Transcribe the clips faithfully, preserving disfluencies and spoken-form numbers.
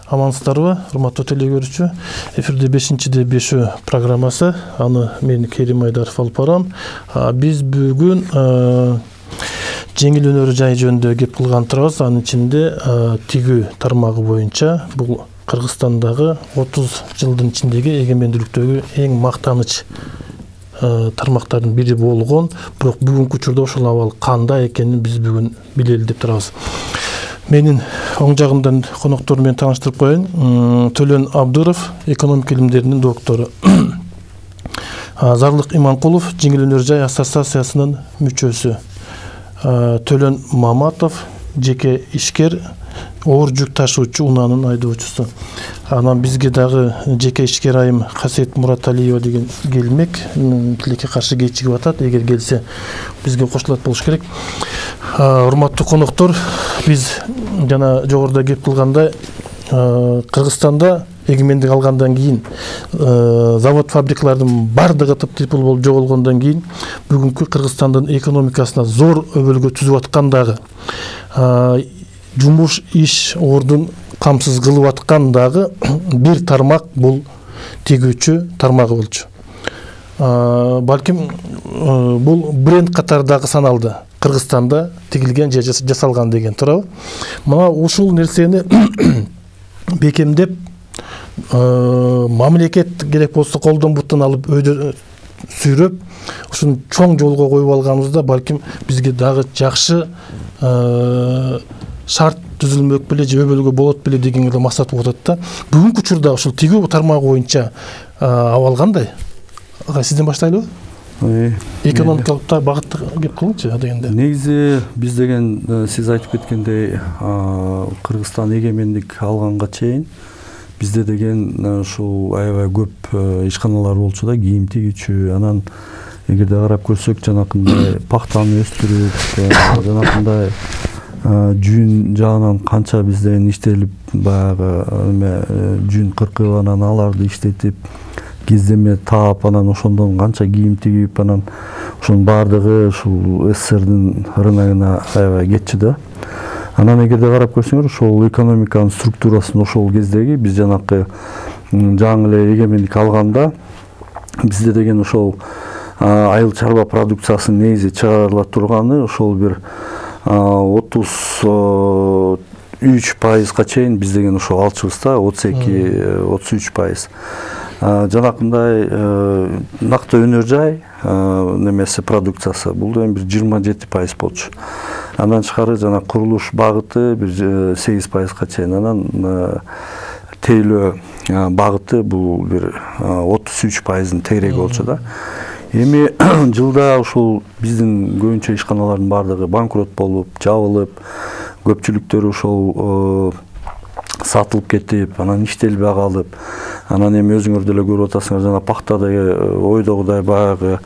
Амансыздарбы, урматтуу теле көрүүчү. Эфирде бешинчиде бешөө программасы. Аны мен Керим Айдаров алып барам. Биз бүгүн жеңил өнөр жай жөнүндө кеп кылган турабыз. Анын ичинде тигүү тармагы боюнча бул Кыргызстандагы отуз жылдын ичиндеги эгемендүүлүктөгү эң мактаныч тармактардын бири болгон, бирок бүгүнкү учурда ошол абал кандай экенин биз бүгүн билели деп турабыз. Менин оң жагымдан коноктор менен тааныштырып коеюн. Төлөн Абдыров, экономика илимдеринин доктору. Зарлык Иманкулов, жеңил өнөр жай ассоциациясынын мүчөсү. Төлөн Маматов, жеке ишкер, оор жүк ташуучу унаанын айдоочусу. Анан бизге дагы жеке ишкер айым Касиет Мураталиева деген келмек. Тилекке каршы кечигип атат. Эгер келсе бизге кошулат болуш керек. Урматтуу коноктор, биз жана жогоруда кеп кылгандай Кыргызстанда эгемендик алгандан кийин завод фабрикалардын бардыгы тып-типыл болуп жоголгондон кийин бүгүнкү Кыргызстандын экономикасына зор өбөлгө түзүп аткан дагы жумуш иш ордун камсыз кылып аткан дагы бир тармак бул тигүүчү тармагы болчу. Балким бул бренд катары дагы саналды. Кыргызстанда тигилген же жасалган деген туурабы? Мына ушул нерсени бекемдеп мамлекет керек болсо колдон буттан алып өйдө сүйрөп ушуну чоң жолго коюп алганыбызда балким бизге дагы жакшы шарт түзүлмөк беле же өбөлгө болот беле деген эле максат болуп атат да. Бүгүнкү учурда ушул тигүү тармагы боюнча абал кандай? Ага, сизден баштайлыбы? Экономикалык багытта кеп кылыңчы дегенде. Негизи биз деген сиз айтып кеткендей Кыргызстан эгемендик алганга чейин бизде деген ушул аябай көп ишканалар болчу да, кийим тигүүчү. Анан эгерде карап көрсөк, жанакындай пахтаны өстүрүп, жанакындай жүн жагынан канча бизден иштелип, баягы жүн кыркып, анан аларды иштетип, кездеме таап, анан ошондон канча кийим тигип, анан ошонун баардыгы ушул СССРдин рыногуна аябай кетчү да. Анан эгерде карап көрсөңөр, ошол экономиканын структурасын ошол кездеги биз жанакы жаңы эле эгемендик алганда бизде деген ошол айыл чарба продукциясынын негизи чыгарыла турганы ошол бир отуз үч пайызга чейин биз деген ошол алчыбызда, отуз эки отуз үч пайыз. Жанакындай накты өнөр жай немеси продукциясы бул эми бир жыйырма жети пайыз болчу. Андан тышкары жана курулуш багыты бир сегиз пайызга чейин, анан тейлөө багыты бул бир отуз үч пайыздын тегереги болчу да. Эми жылда ушул биздин көбүнчө ишканалардын бардыгы банкрот болуп, жабылып, көпчүлүктөрү ошол сатылып кетип, анан иштелбей калып, анан эми өзүңөр деле көрүп атасыңар, жана пахтада ойдогудай баягы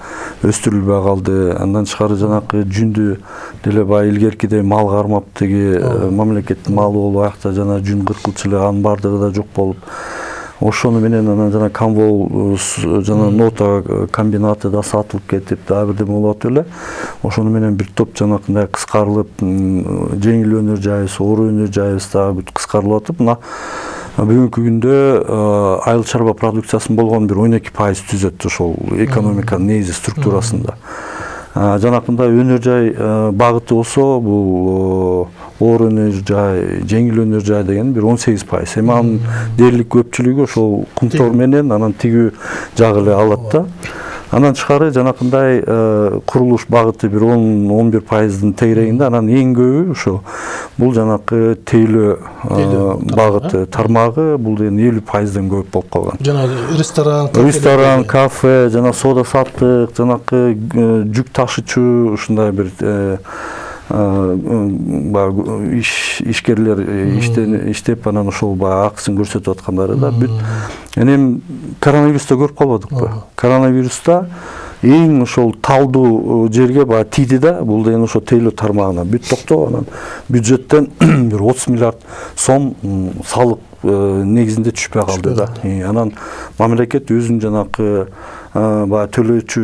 өстүрүлбөй калды. Андан тышкары жанакы жүндү деле баягы илгеркидей мал кармап, теги мамлекеттин малы болуп, аякта жана жүн кыркылчу эле, анын бардыгы да жок болуп, ошону менен анан жана Камвол жана нота комбинаты да сатылып кетип, дагы бирдеме болуп атып эле. Ошону менен бир топ жанакындай кыскарылып, жеңил өнөр жайыбыз, оор өнөр жайыбыз дагы бүт кыскарылып атып, мына бүгүнкү күндө айыл чарба продукциясынын болгон бир он эки пайыз түзөт ошол экономиканын негизи структурасында. Жанакындай өнөр жай багыты болсо, бул оор өнөр жай, жеңил өнөр жай деген бир он сегиз пайыз. Эми анын дээрлик көпчүлүгү ошол кумтор менен анан тигүү жагы эле алат да. Андан тышкары жанакындай курулуш багыты бир он он бир пайыздын тегерегинде, анан эң көбү ошо бул жанакы тейлөө багыты тармагы, бул деген элүү пайыздан көп болуп калган. Жана ресторан, ресторан, кафе, жана соода саттык, жанакы жүк ташуучу ушундай бир ишкерлер иштеп, анан ошол баягы акысын көрсөтүп аткандары да бүт. Эми коронавируста көрүп калбадыкпы? Коронавируста эң ошол талдуу жерге баягы тийди да, бул деген ошо тейлөө тармагына бүт токтоп, анан бюджеттен бир отуз миллиард сом салык негизинде түшпөй калды да. Анан мамлекет өзүнүн жанакы баягы төлөөчү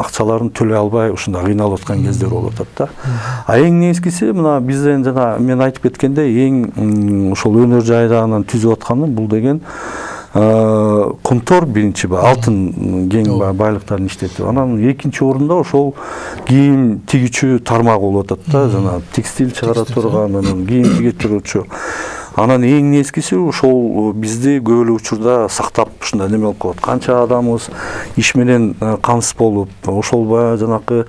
акчаларын төлөй албай ушундай кыйналып аткан кездер болуп атат да. А эң негизгиси мына бизден жана мен айтып кеткендей эң ошол өнөр жайдагынан түзүп атканы бул деген контор биринчи алтын кең байлыктарын иштетип, анан экинчи орунда ошол кийим тигүүчү тармак болуп атат да, жана текстиль чыгара турган, анан кийим тиге турчу. Анан эң негизгиси ошол бизди көп эле учурда сактап ушундай неме болуп калат. Канча адамыбыз иш менен камсыз болуп, ошол баягы жанакы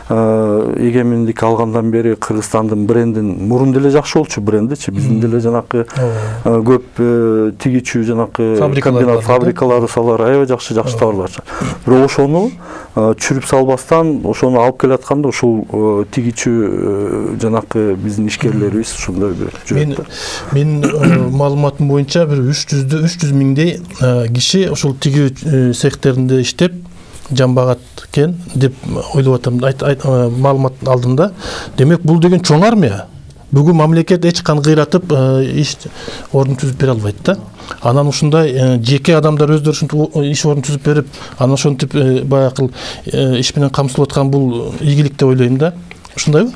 эгемендик алгандан бери Кыргызстандын брендин мурун деле жакшы болчу брендичи, биздин деле жанакы көп тигичүү жанакы комбинат фабрикалары салар аябай жакшы жакшы товарлар. Бирок ошону чүрүп салбастан ошону алып келатканда ушул тигичүү жанакы биздин ишкерлерибиз ушундай бир жүрөт. Мен маалыматым боюнча бир үч жүз миңдей киши ошол тигүү цехтеринде иштеп жамбагат экен деп ойлоп атам. Маалымат алдым да. Демек бул деген чоң армия. Бүгүн мамлекет эч кан кыйратып иш ордун түзүп бере албайт да. Анан ушундай жеке адамдар өздөрү ушинтип иш ордун түзүп берип, анан ошентип баягы иш менен камсыздап аткан бул ийгилик деп ойлойм да. Ушундайбы?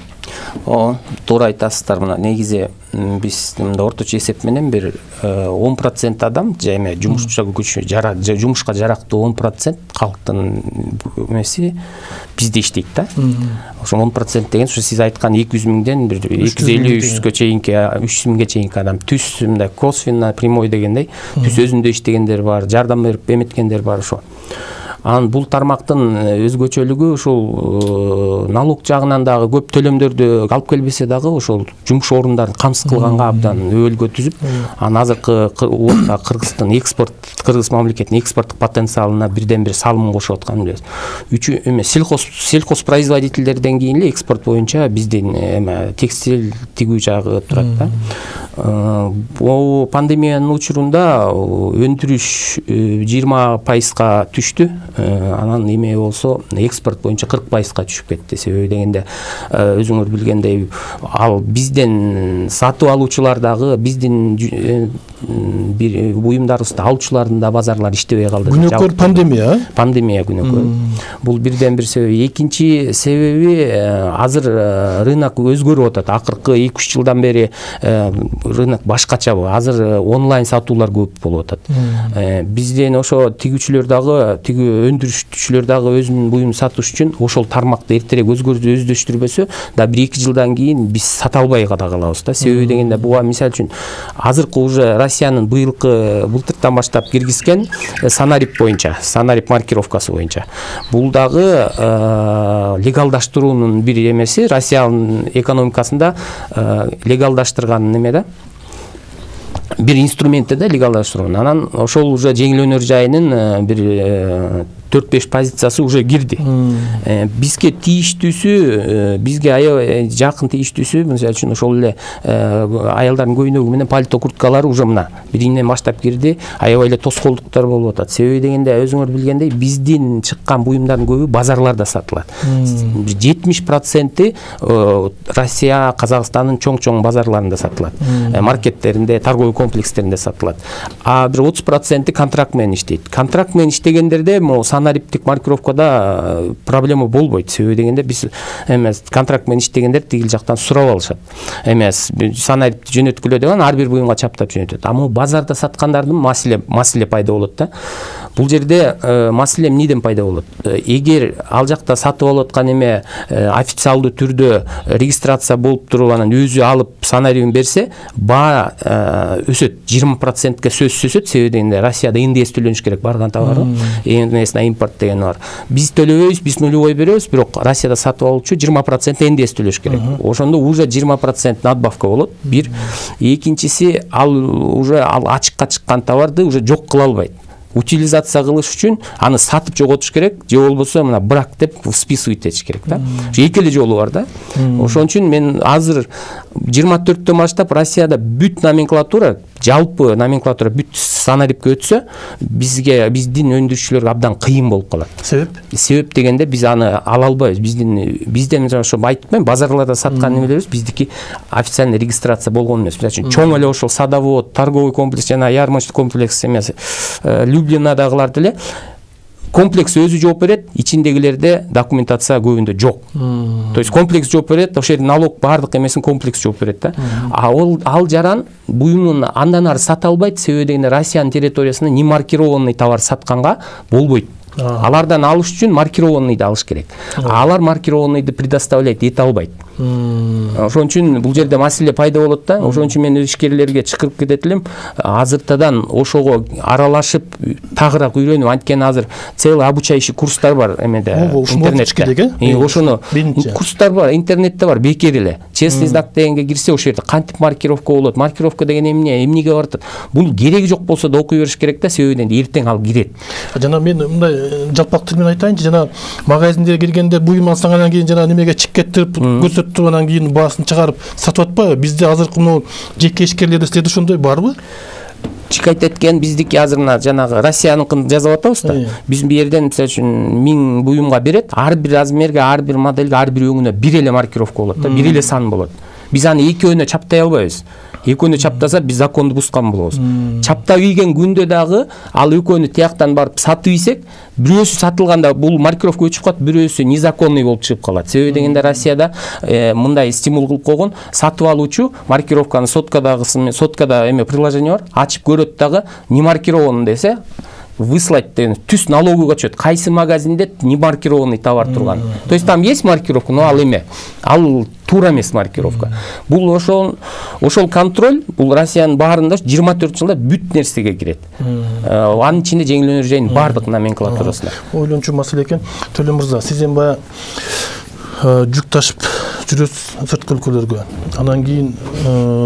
О, туура айтасыздар. Мына негизи биз мында орточо эсеп менен бир он процент адам эме жумушча күчү жара жумушка жарактуу он процент калктын эмеси бизде иштейт да. Ошо он процент деген ушу сиз айткан эки жүз миңден бир эки жүз элүү үч жүзгө чейинки үч жүз миңге чейинки адам түз мындай косвенно прямой дегендей түз өзүндө иштегендер бар, жардам берип эметкендер бар ошо. Анан бул тармактын өзгөчөлүгү ушул налог жагынан дагы көп төлөмдөрдү алып келбесе дагы ошол жумуш орундарын камсыз кылганга абдан өбөлгө түзүп, анан азыркы убакта Кыргыздын экспорт, Кыргыз мамлекетинин экспорттук потенциалына бирден бир салым кошуп атканын билебиз. Үчү эме сельхоз сельхозпроизводительдерден кийин эле экспорт боюнча биздин эме текстиль тигүү жагы турат да. Бул пандемиянын учурунда өндүрүш жыйырма пайызга түштү. Анан эме болсо экспорт боюнча кырк пайызга түшүп кетти. Себеби дегенде өзүңөр билгендей ал бизден сатып алуучулар дагы биздин бир буюмдарыбызды алуучулардын да базарлары иштебей калды. Күнөкөр пандемия, пандемия күнөкөр. Бул бирден бир себеби. Экинчи себеби азыр рынок өзгөрүп атат. Акыркы эки үч жылдан бери рынок башкача. Азыр онлайн сатуулар көп болуп атат. Бизден ошо тигүүчүлөр дагы, тигүү өндүрүшчүлөр дагы өзүнүн буюмун сатыш үчүн ошол тармакты эртерээк өздөштүрбөсө да бир эки жылдан кийин биз сата албай да калабыз да. Себеби дегенде буга мисалы үчүн азыркы уже Россиянын быйылкы былтыртан баштап киргизген Санарип боюнча, Санарип маркировкасы боюнча. Бул дагы легалдаштыруунун бир эмеси, Россиянын экономикасында легалдаштырган неме да. Бир инструментте да легалдаштыруу. Анан ошол уже жеңил өнөр жайынын бир төрт беш позициясы уже кирди. Бизге тийиштүүсү, бизге аябай жакын тийиштүүсү, мисалы үчүн ошол эле аялдардын көйнөгү менен пальто курткалары уже мына биринен баштап кирди. Аябай эле тоскоолдуктар болуп атат. Себеби дегенде өзүңөр билгендей биздин чыккан буюмдардын көбү базарларда сатылат. жетимиш проценти Россия, Казакстандын чоң-чоң базарларында сатылат. Маркеттеринде, торговый комплекстеринде сатылат. А бир отуз проценти контракт менен иштейт. Контракт менен иштегендерде могу санариптик маркировкада проблема болбойт. Себеби дегенде биз эмес контракт менен иштегендер тигил жактан сурап алышат. Эмес санарипти жөнөткүлө деген ар бир буюмга чаптап жөнөтөт. Ама базарда саткандардын маселе маселе пайда болот да. Бул жерде маселе эмнеден пайда болот? Эгер ал жакта сатып алып аткан эме официалдуу түрдө регистрация болуп туруп анан өзү алып санарибин берсе, баа өсөт, жыйырма процентке сөзсүз өсөт. Себеби дегенде Россияда эн дэ эс төлөнүш керек барган товар. эн дэ эс на импорт деген бар. Биз төлөбөйбүз, биз нулевой беребиз, бирок Россияда сатып алуучу жыйырма процент эн дэ эс төлөш керек. Ошондо уже жыйырма процент надбавка болот. Бир. Экинчиси ал уже ал ачыкка чыккан товарды уже жок кыла албайт. утилизация кылыш үчүн аны сатып жоготуш керек, же болбосо мына брак деп списывать этиш керек да. Эки эле жолу бар да. Ошон үчүн мен азыр жыйырма төрттөн баштап Россияда бүт номенклатура, жалпы номенклатура бүт санарипке өтсө, бизге биздин өндүрүүчүлөргө абдан кыйын болуп калат. Себеп? Себеп дегенде биз аны ала албайбыз. Биздин бизден ошо айтпайм, базарларда саткан немелерибиз биздики официальный регистрация болгон эмес. Мисалы үчүн чоң эле ошол садовод, торговый комплекс жана ярмарочный комплекс эмес, Люблинадагылар деле комплекс өзү жооп берет, ичиндегилерде документация көбүндө жок. То есть комплекс жооп берет, ошол жерде налог бардык эмесин комплекс жооп берет да. А ол ал жаран буюмун андан ары сата албайт, себеби дегенде Россиянын территориясында не маркированный товар сатканга болбойт. Алардан алыш үчүн маркированныйды алыш керек. Алар маркированныйды предоставлять эте албайт. Ошон үчүн бул жерде маселе пайда болот да. Ошон үчүн мен ишкерлерге чакырып кетет элем, азыртадан ошого аралашып, тагыраак үйрөнүп, анткени азыр целый обучающий курстар бар эмеде, интернетте. Ошону курстар бар, интернетте бар, бекер эле. Честный знак дегенге кирсе, ошол жерде кантип маркировка болот, маркировка деген эмне, эмнеге барат? Бул кереги жок болсо да окуй бериш керек да, себеби эртең ал кирет. Жана мен мындай жалпак тилмен айтайынчы, жана магазиндерге киргенде буюм алсаң анан кийин жана немеге чеккеттирип көрсөтүп туруп анан кийин баасын чыгарып сатып атпайбы? Бизде азыркы могу жеке ишкерлерде силерде ошондой барбы? Чикайт эткен биздики азыр мына жанагы Россияныкын жазып атабыз да. Биз бу жерден мисалы үчүн миң буюмга берет, ар бир размерге, ар бир моделге, ар бир өңүнө бир эле маркировка болот да, бир эле сан болот. Биз аны экөөнө чаптай албайбыз. Экөөнү чаптаса биз законду бускан болобуз. Чаптап ийген күндө дагы ал экөөнү тияктан барып сатып ийсек, бирөөсү сатылганда бул маркировка өчүп калат, бирөөсү незаконный болуп чыгып калат. Себеби дегенде Россияда мындай стимул кылып койгон, сатып алуучу маркировканы соткадагысы, соткада эме приложение бар, ачып көрөт дагы, не маркирован десе, выслать деген түз налоговый отчет, кайсы магазинде не маркированный товар турган. То есть там есть маркировка, но ал эме, ал туура эмес маркировка. Бул ошол ошол контроль, бул Россиянын баарында жыйырма төрт жылда бүт нерсеге кирет. Анын ичинде жеңил өнөр жайынын бардык номенклатурасында. Ойлончу маселе экен. Төлөн мырза, сиз эми баягы жүк ташып жүрөсүз сырткы өлкөлөргө. Анан кийин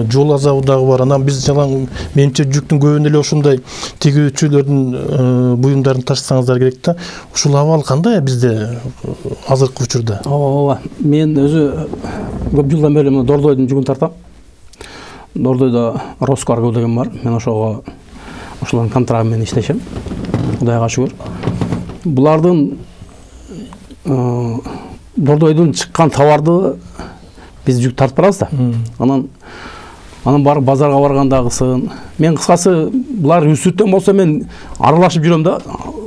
жол азабы дагы бар. Анан биз жана менимче жүктүн көбүнө эле ошондой тигүүчүлөрдүн буюмдарын ташысаңыздар керек да. Ушул абал кандай бизде азыркы учурда? Ооба, мен өзү көп жылдан бери Дордойдун жүгүн тартам. Дордойдо Роскарго деген бар. Мен ошого ошолордун контрагы менен иштешем. Кудайга шүгүр. Булардын Дордойдун чыккан товарды биз жүк тартып барабыз да. Анан анан барып базарга баргандагысын. Мен кыскасы булар үстүттөн болсо мен аралашып жүрөм да.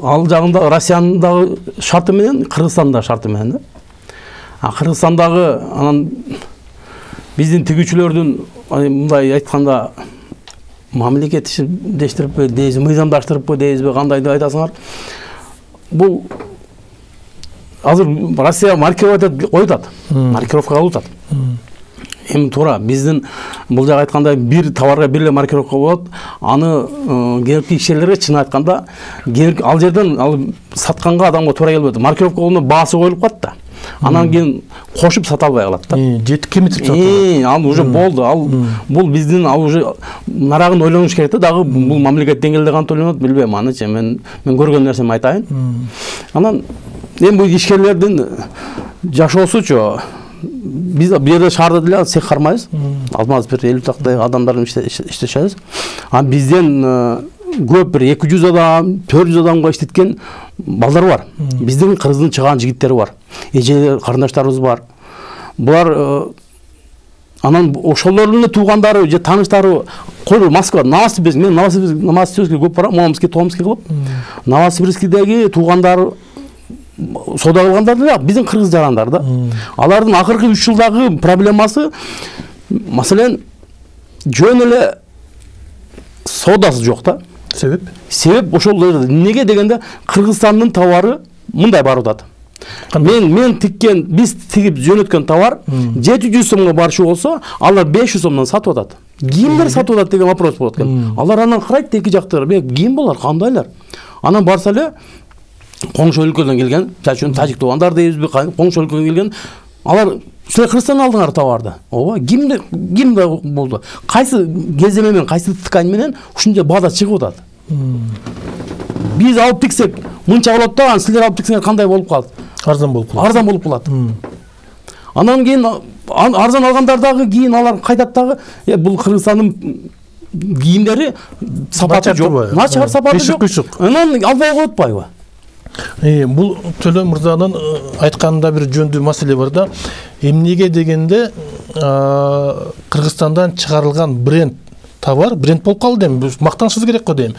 Ал жагында Россиянын дагы шарты менен, Кыргызстандын да шарты менен да. А Кыргызстандагы анан биздин тигүүчүлөрдүн мындай айтканда мамлекеттештириппи дейбизби, мыйзамдаштырыппы дейбизби, кандай деп айтасыңар. Бул азыр Россия маркировать коюп, маркировка алып атат. Эми туура биздин бул жагы айтканда бир товарга бир эле маркировка болот. Аны керектүү ишчилерге чын айтканда ал жерден ал сатканга адамга туура келбейт. Маркировка болгондо баасы коюлуп калат да. Анан кийин кошуп сата албай калат да. Жетип кемитип сатат. Ал уже болду. Ал бул биздин ал уже нарагын ойлонуш керек да. Дагы бул мамлекет деңгээлде кантип ойлонот билбейм анычы. Мен мен көргөн нерсеми айтайын. Анан эми бул ишкерлердин жашоосучу биз бу жерде шаарда деле цех кармайбыз. Алмаз бир элүү тактай адамдар иштешебиз. А бизден көп бир эки жүз адам, төрт жүз адамга иштеткен балдар бар. Биздин Кыргыздын чыган жигиттери бар. Эже карындаштарыбыз бар. Булар анан ошолордун туугандары же тааныштары койду Москва, Новосибирск, мен Новосибирскке көп барам, Омский, Томский кылып. Новосибирскидеги туугандары соода кылгандар деле биздин кыргыз жарандар да. Алардын акыркы үч жылдагы проблемасы маселен жөн эле соодасы жок да. Себеп? Себеп ошол неге дегенде Кыргызстандын товары мындай барып атат. Мен мен тиккен, биз тигип жөнөткөн товар жети жүз сомго барчу болсо, алар беш жүз сомдон сатып атат. Кимдер сатып атат деген вопрос болот экен. Алар анан карайт эки жактар, ким болар, кандайлар? Анан барса эле коңшу өлкөдөн келген, чачын тажик туугандар дейбизби, коңшу өлкөдөн келген, алар силер Кыргызстандан алдыңар товарды. Ооба, кимде кимде болду? Кайсы кеземе менен, кайсы ткань менен ушунча баада чыгып атат? биз алып тиксек мынча болот да, анан силер алып тиксеңер кандай болуп калат? Арзан болуп калат. Арзан болуп калат. Анан кийин арзан алгандар дагы кийин алар кайтат дагы, бул Кыргызстандын кийимдери сапаты жок, начар сапаты жок. Анан албай коет атпайбы? Бул Төлөн мырзанын айтканында бир жөндүү маселе бар да. Эмнеге дегенде Кыргызстандан чыгарылган бренд товар, бренд болуп калды дейм. Мактанышыбыз керек го дейм.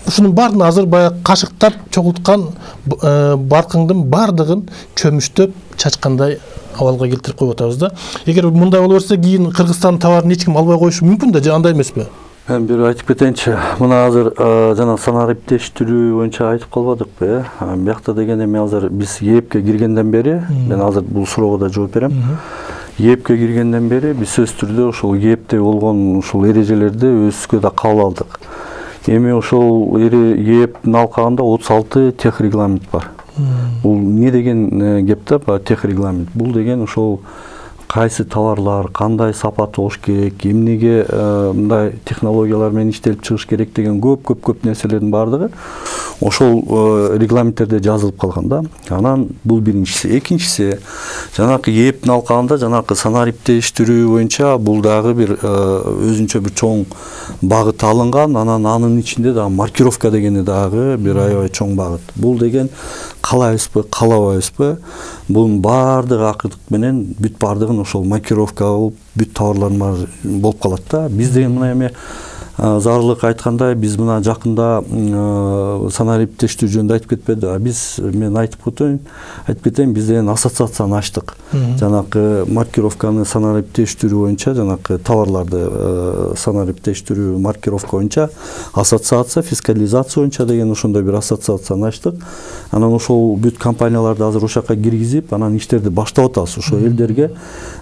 Ушунун баарын азыр баягы кашыктап чогулткан баркыңдын баардыгын чөмүштөп чачкандай абалга келтирип коюп атабыз да. Эгер мындай боло берсе, кийин Кыргызстандын товарын эч ким албай коюшу мүмкүн да, же андай эмеспи? Мен бир айтып кетейинчи. Мына азыр жана санариптештирүү боюнча айтып калбадыкпы, э? Биякта дегенде мен азыр биз ЕЭПке киргенден бери, мен азыр бул суроого да жооп берем. ЕЭПке киргенден бери биз сөзсүз түрдө ошол ЕЭПте болгон ушул эрежелерди өзүбүзгө да кабыл алдык. Эми ошол ЕЭПтин алкагында отуз алты тех регламент бар. Бул не деген кеп да, тех регламент? Бул деген ошол кайсы товарлар, кандай сапаты болуш керек, эмнеге мындай технологиялар менен иштелип чыгыш керек деген көп-көп-көп нерселердин баардыгы ошол регламенттерде жазылып калган да. Анан бул биринчиси. Экинчиси, жанакы ЕЭПтин алкагында жанакы санариптештирүү боюнча бул дагы бир өзүнчө бир чоң багыт алынган. Анан анын ичинде дагы маркировка дегени дагы бир аябай чоң багыт. Бул деген каалайбызбы, каалабайбызбы, бунун баардыгы акырдык менен бүт баардыгын ошол маркировка болуп, бүт товарлар болуп калат да. Биз деген мына эми Зарлык айткандай, биз мына жакында санариптештирүү жөнүндө айтып кетпеди. Биз мен айтып кетейин, айтып кетейин, биз деген ассоциацияны ачтык. Жанакы маркировканы санариптештирүү боюнча, жанакы товарларды санариптештирүү маркировка боюнча ассоциация, фискализация боюнча деген ошондой бир ассоциацияны ачтык. Анан ошол бүт компанияларды азыр ошол жака киргизип, анан иштерди баштап атабыз. Ошол элдерге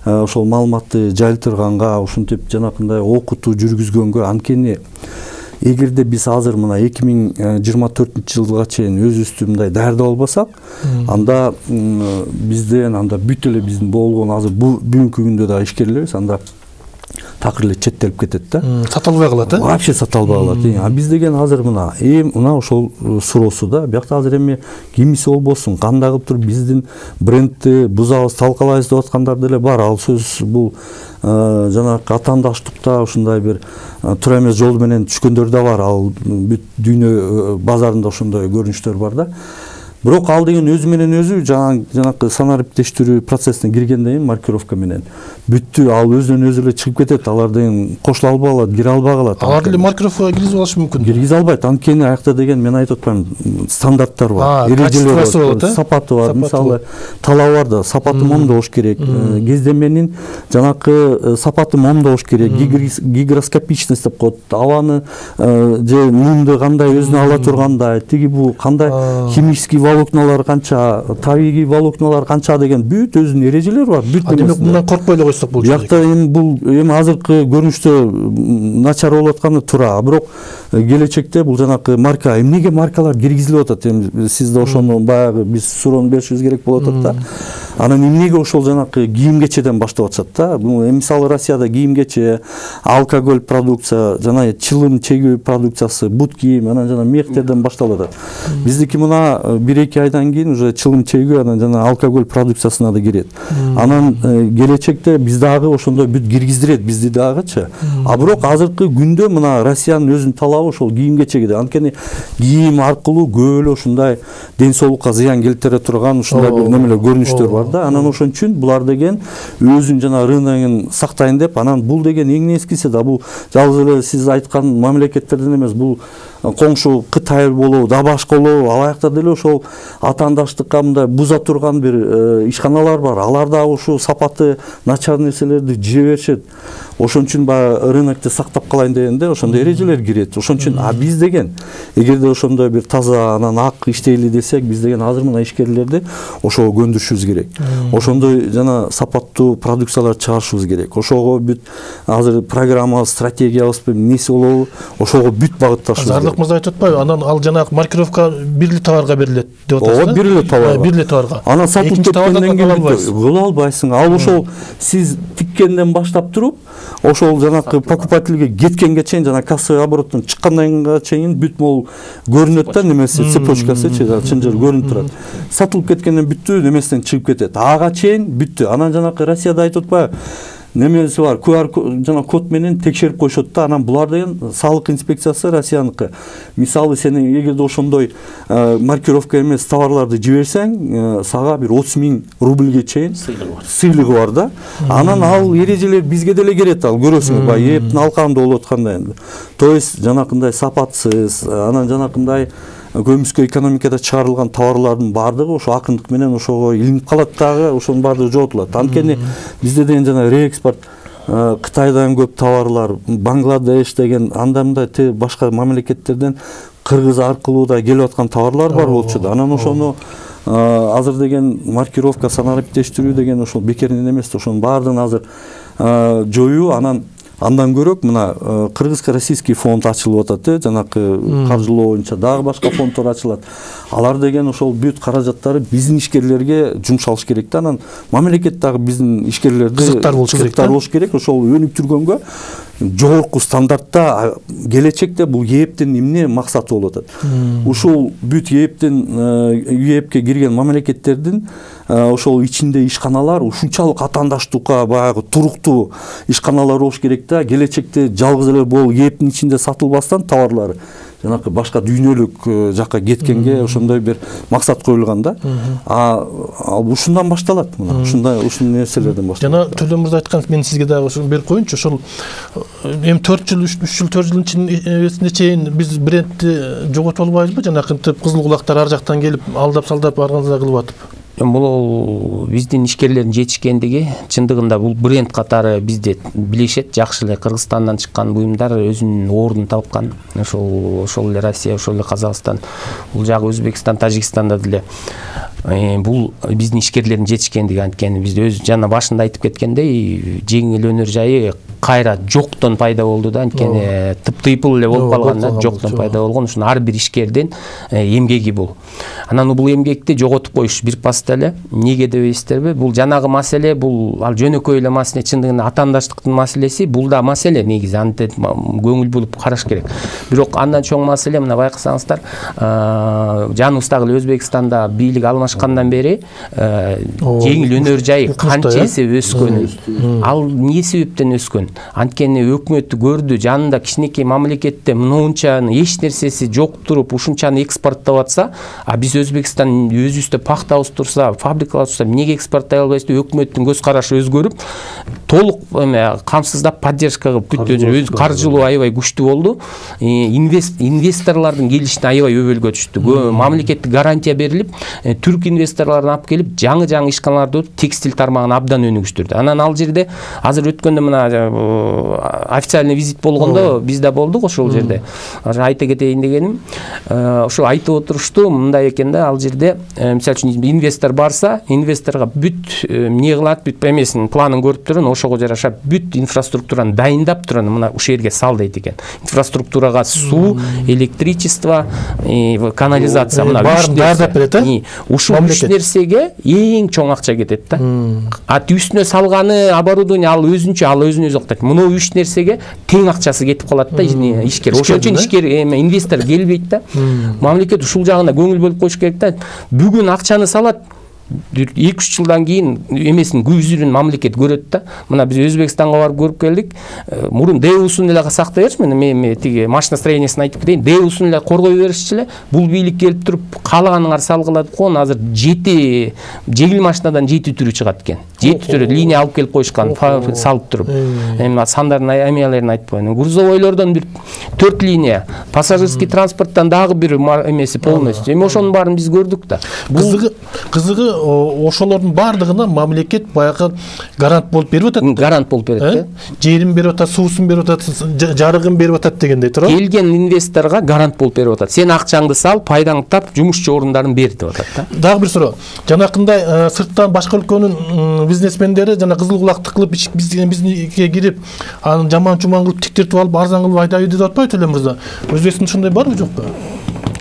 ошол маалыматты жайлтырганга, ушинтип жанакындай окутуу жүргүзгөнгө, анткени эгерде биз азыр мына эки миң жыйырма төртүнчү жылга чейин өзүбүздү мындай даярдап албасак, анда бизден анда бүт эле биздин болгон азыр бүгүнкү күндө да ишкерлерибиз анда такыр эле четтелип кетет да. Сатылбай калат, э? Вообще сатылбай калат. А биз деген азыр мына эми мына ошол суроосу да. Биякта азыр эми кимиси болбосун, кандай кылып туруп биздин брендти бузабыз, талкалайбыз деп аткандар деле бар. Ал сөз бул жанагы атаандаштыкта ушундай бир туура эмес жол менен түшкөндөр да бар. Ал бүт дүйнө базарында ошондой көрүнүштөр бар да. Бирок ал деген өзү менен өзү жанакы санариптештирүү процессине киргенден кийин маркировка менен бүттү, ал өзүнөн өзү эле чыгып кетет. Алар деген кошула албай калат, кире албай калат. Алар деле маркировкага киргизип алышы мүмкүн. Киргизе албайт. Анткени аякта деген мен айтып атпаймын, стандарттар бар, эрежелер бар, сапаты бар. Мисалы, талабарда сапаты мондо болуш керек, кездеменин жанакы сапаты мондо болуш керек, гигроскопичность деп коет. Абаны же нымды кандай өзүнө ала тургандай, тиги бул кандай химический волокналар канча, табигый волокналар канча деген бүт өзүнүн эрежелери бар. Бүт демек мындан коркпой эле койсок болчу. Биякта эми бул эми азыркы көрүнүштө начар болуп атканы туура, бирок келечекте бул жанакы марка, эмнеге маркалар киргизилип атат? Эми сиз да ошону баягы биз суроону беришибиз керек болуп атат да. Анан эмнеге ошол жанакы кийим-кечеден баштап атышат да? Бул мисалы Россияда кийим-кече, алкоголь продукция, жана чылым чегүү продукциясы, бут кийим, анан жана мехтерден башталып атат. Биздики мына бир-эки айдан кийин уже чылым чегүү, анан жана алкоголь продукциясына да кирет. Анан келечекте биз дагы ошондой бүт киргиздирет бизди дагычы. А бирок азыркы күндө мына Россиянын өзүнүн талабы ошол кийим-кечеге. Анткени кийим аркылуу көп эле ушундай ден соолукка зыян келтире турган ушундай бир немелер көрүнүштөр бар да. Анан ошон үчүн булар деген өзүнүн жана рыногун сактайын деп, анан бул деген эң нескиси да бул жалгыз эле сиз айткан мамлекеттерден эмес, бул коңшу Кытай болобу, да башка болобу, ал аякта деле ошол атаандаштыкка мындай буза турган бир ишканалар бар. Алар да ушул сапаты начар нерселерди жие беришет. Ошон үчүн баягы рынокты сактап калайын дегенде ошондой эрежелер кирет. Ошон үчүн а биз деген эгерде ошондой бир таза анан ак иштейли десек, биз деген азыр мына ишкерлерди ошого көндүрүшүбүз керек. Ошондой жана сапаттуу продукциялар чыгарышыбыз керек. Ошого бүт азыр программа, стратегиябыз эмнеси болобу, ошого бүт багытташыбыз керек. Мырзак мырза айтып атпайбы? Анан ал жанагы маркировка бир эле товарга берилет деп атасыз. Ооба, бир эле товарга. Бир эле товарга. Анан сатылып кеткенден кийин кыла албайсың. Ал ошол сиз тиккенден баштап туруп, ошол жанагы покупательге кеткенге чейин, жана кассовый обороттон чыккандан чейин бүт могул көрүнөт да, немеси цепочкасы, чынжыр көрүнүп турат. Сатылып кеткенден бүттү, немесинен чыгып кетет. Ага чейин бүттү. Анан жанагы Россияда айтып атпайбы? Немеси бар, ку ар жана код менен текшерип коюшат да. Анан булар деген салык инспекциясы Россияныкы. Мисалы сен эгерде ошондой маркировка эмес товарларды жиберсең, сага бир отуз миң рубльге чейин сыйлыгы бар да. Анан ал эрежелер бизге деле керет, ал көрөсүң, баягы эптин алкагында болуп атканда энди. То есть жанакындай сапатсыз, анан жанакындай көмүскө экономикада чыгарылган товарлардын баардыгы ошо акындык менен ошого илинип калат дагы, ошонун баардыгы жоготулат. Анткени бизде деген жана реэкспорт Кытайдан көп товарлар, Бангладеш деген анда мындай башка мамлекеттерден Кыргыз аркылуу да келип аткан товарлар бар болчу да. Анан ошону азыр деген маркировка, санариптештирүү деген ошол бекеринен эмес, ошонун баардыгын азыр жоюу. Анан андан көрөк мына кыргызско-российский фонд ачылып атат, жанакы каржылоо боюнча дагы башка фонддор ачылат. Алар деген ошол бүт каражаттары биздин ишкерлерге жумшалыш керек да. Анан мамлекет дагы биздин ишкерлерди кызыктар болуш керек. Кызыктар болуш керек. Ошол өнүктүргөнгө жогорку стандартта келечекте бул ЕЭПтин эмне максаты болуп атат. Ушул бүт ЕЭПтин ЕЭПке кирген мамлекеттердин ошол ичинде ишканалар ушунчалык атаандаштыкка баягы туруктуу ишканалар болуш керек да. Келечекте жалгыз эле бул ЕЭПтин ичинде сатылбастан товарлары жанакы башка дүйнөлүк жакка кеткенге ошондой бир максат коюлган да. А ушундан башталат, мына ушундай ушун нерселерден башталат. Жана Төлөн мырза айткан, мен сизге дагы ушуну берип коеюнчу. Ошол эми төрт жыл, үч жыл, төрт жылдын ичинде чейин биз брендти жоготуп албайбызбы? Жанакы кызыл кулактар ар жактан келип алдап-салдап арганза кылып атып. Бул биздин ишкерлердин жетишкендиги, чындыгында бул бренд катары бизде билишет, жакшы эле Кыргызстандан чыккан буюмдар өзүнүн ордун тапкан. Ошол ошол эле Россия, ошол эле Казакстан, бул жагы Өзбекстан, Тажикстанда деле бул биздин ишкерлердин жетишкендиги. Анткени бизде өз жана башында айтып кеткендей, жеңил өнөр жайы кайра жоктон пайда болду да. Анткени тып-тыйпыл эле болуп калган да, жоктон пайда болгон. Ушуну ар бир ишкердин эмгеги бул. Анан бул эмгекти жоготуп коюш бир паста эле. Неге дебейсиздерби? Бул жанагы маселе, бул ал жөнөкөй эле маселе, чындыгында атаандаштыктын маселеси, бул да маселе негизи, антип көңүл булуп караш керек. Бирок андан чоң маселе, мына байкасаңыздар, жаныбыздагы Өзбекстанда бийлик алмашкандан бери жеңил өнөр жайы канча эсе өскөнүн. Ал эмне себептен өскөн? Анткени өкмөт көрдү, жанында кичинекей мамлекетте мынунчаны эч нерсеси жок туруп ушунчаны экспорттоп атса, а биз Өзбекстан өзүбүздө пахтабыз турса, фабрикалар турса, эмнеге экспорттой албайбыз деп өкмөттүн көз карашы өзгөрүп, толук эме камсыздап поддержка кылып бүттү. Каржылоо аябай күчтүү болду. Инвесторлордун келишине аябай өбөлгө түштү. Мамлекеттик гарантия берилип, түрк инвесторлорун алып келип, жаңы-жаңы ишканаларды текстиль тармагын абдан өнүгүштүрдү. Анан ал жерде азыр өткөндө мына официальный визит болгондо бизде болдук ошол жерде. Айта кетейин дегеним, ошо айтып отурушту, мындай экен да, ал жерде мисалы үчүн инвестор барса, инвесторго бүт эмне кылат, бүт эмесин планын көрүп турун, ошого жараша бүт инфраструктураны дайындап турун, мына ушул жерге сал дейт экен. Инфраструктурага суу, электричество, канализация, мына үч нерсе. Ушул үч нерсеге эң чоң акча кетет да. А үстүнө салганы оборудование ал өзүнчө, ал өзүн өзү актайт. Мына үч нерсеге тең акчасы кетип калат да ишкер. Ошон үчүн ишкер эме инвестор келбейт да. Мамлекет ушул жагына көңүл бөлүп коюш керек да. Бүгүн акчаны салат, эки үч жылдан кийин эмесин көзүрүн мамлекет көрөт да. Мына биз Өзбекстанга барып көрүп келдик. Мурун дэусун эле сактай берчү, мен тиги машиностроениясын айтып кетейин. дэусун эле коргой беришчи эле. Бул бийлик келип туруп каалаганыңар салгылады го. Азыр жети жеңил машинадан жети түрү чыгат экен. жети түрү линия алып келип коюшкан, салып туруп. Эми сандардын эмелерин айтып коеюн. Грузовойлордон бир төрт линия, пассажирский транспорттон дагы бир эмеси полностью. Эми ошонун баарын биз көрдүк да. Кызыгы, кызыгы ошолордун баардыгына мамлекет баягы гарант болуп берип атат. Гарант болуп берет. Жерин берип атат, суусун берип атат, жарыгын берип атат дегендей туурабы? Келген инвесторго гарант болуп берип атат. Сен акчаңды сал, пайдаңды тап, жумушчу орундарын бер деп атат да. Дагы бир суроо. Жанакындай сырттан башка өлкөнүн бизнесмендери жана кызыл кулакты кылып бизге кирип, анын жаман-чуман кылып тиктиртип алып, арзан кылып айдайбы деп атпайбы Төлөн мырза? Өзбекстанда ушундай барбы жокпу?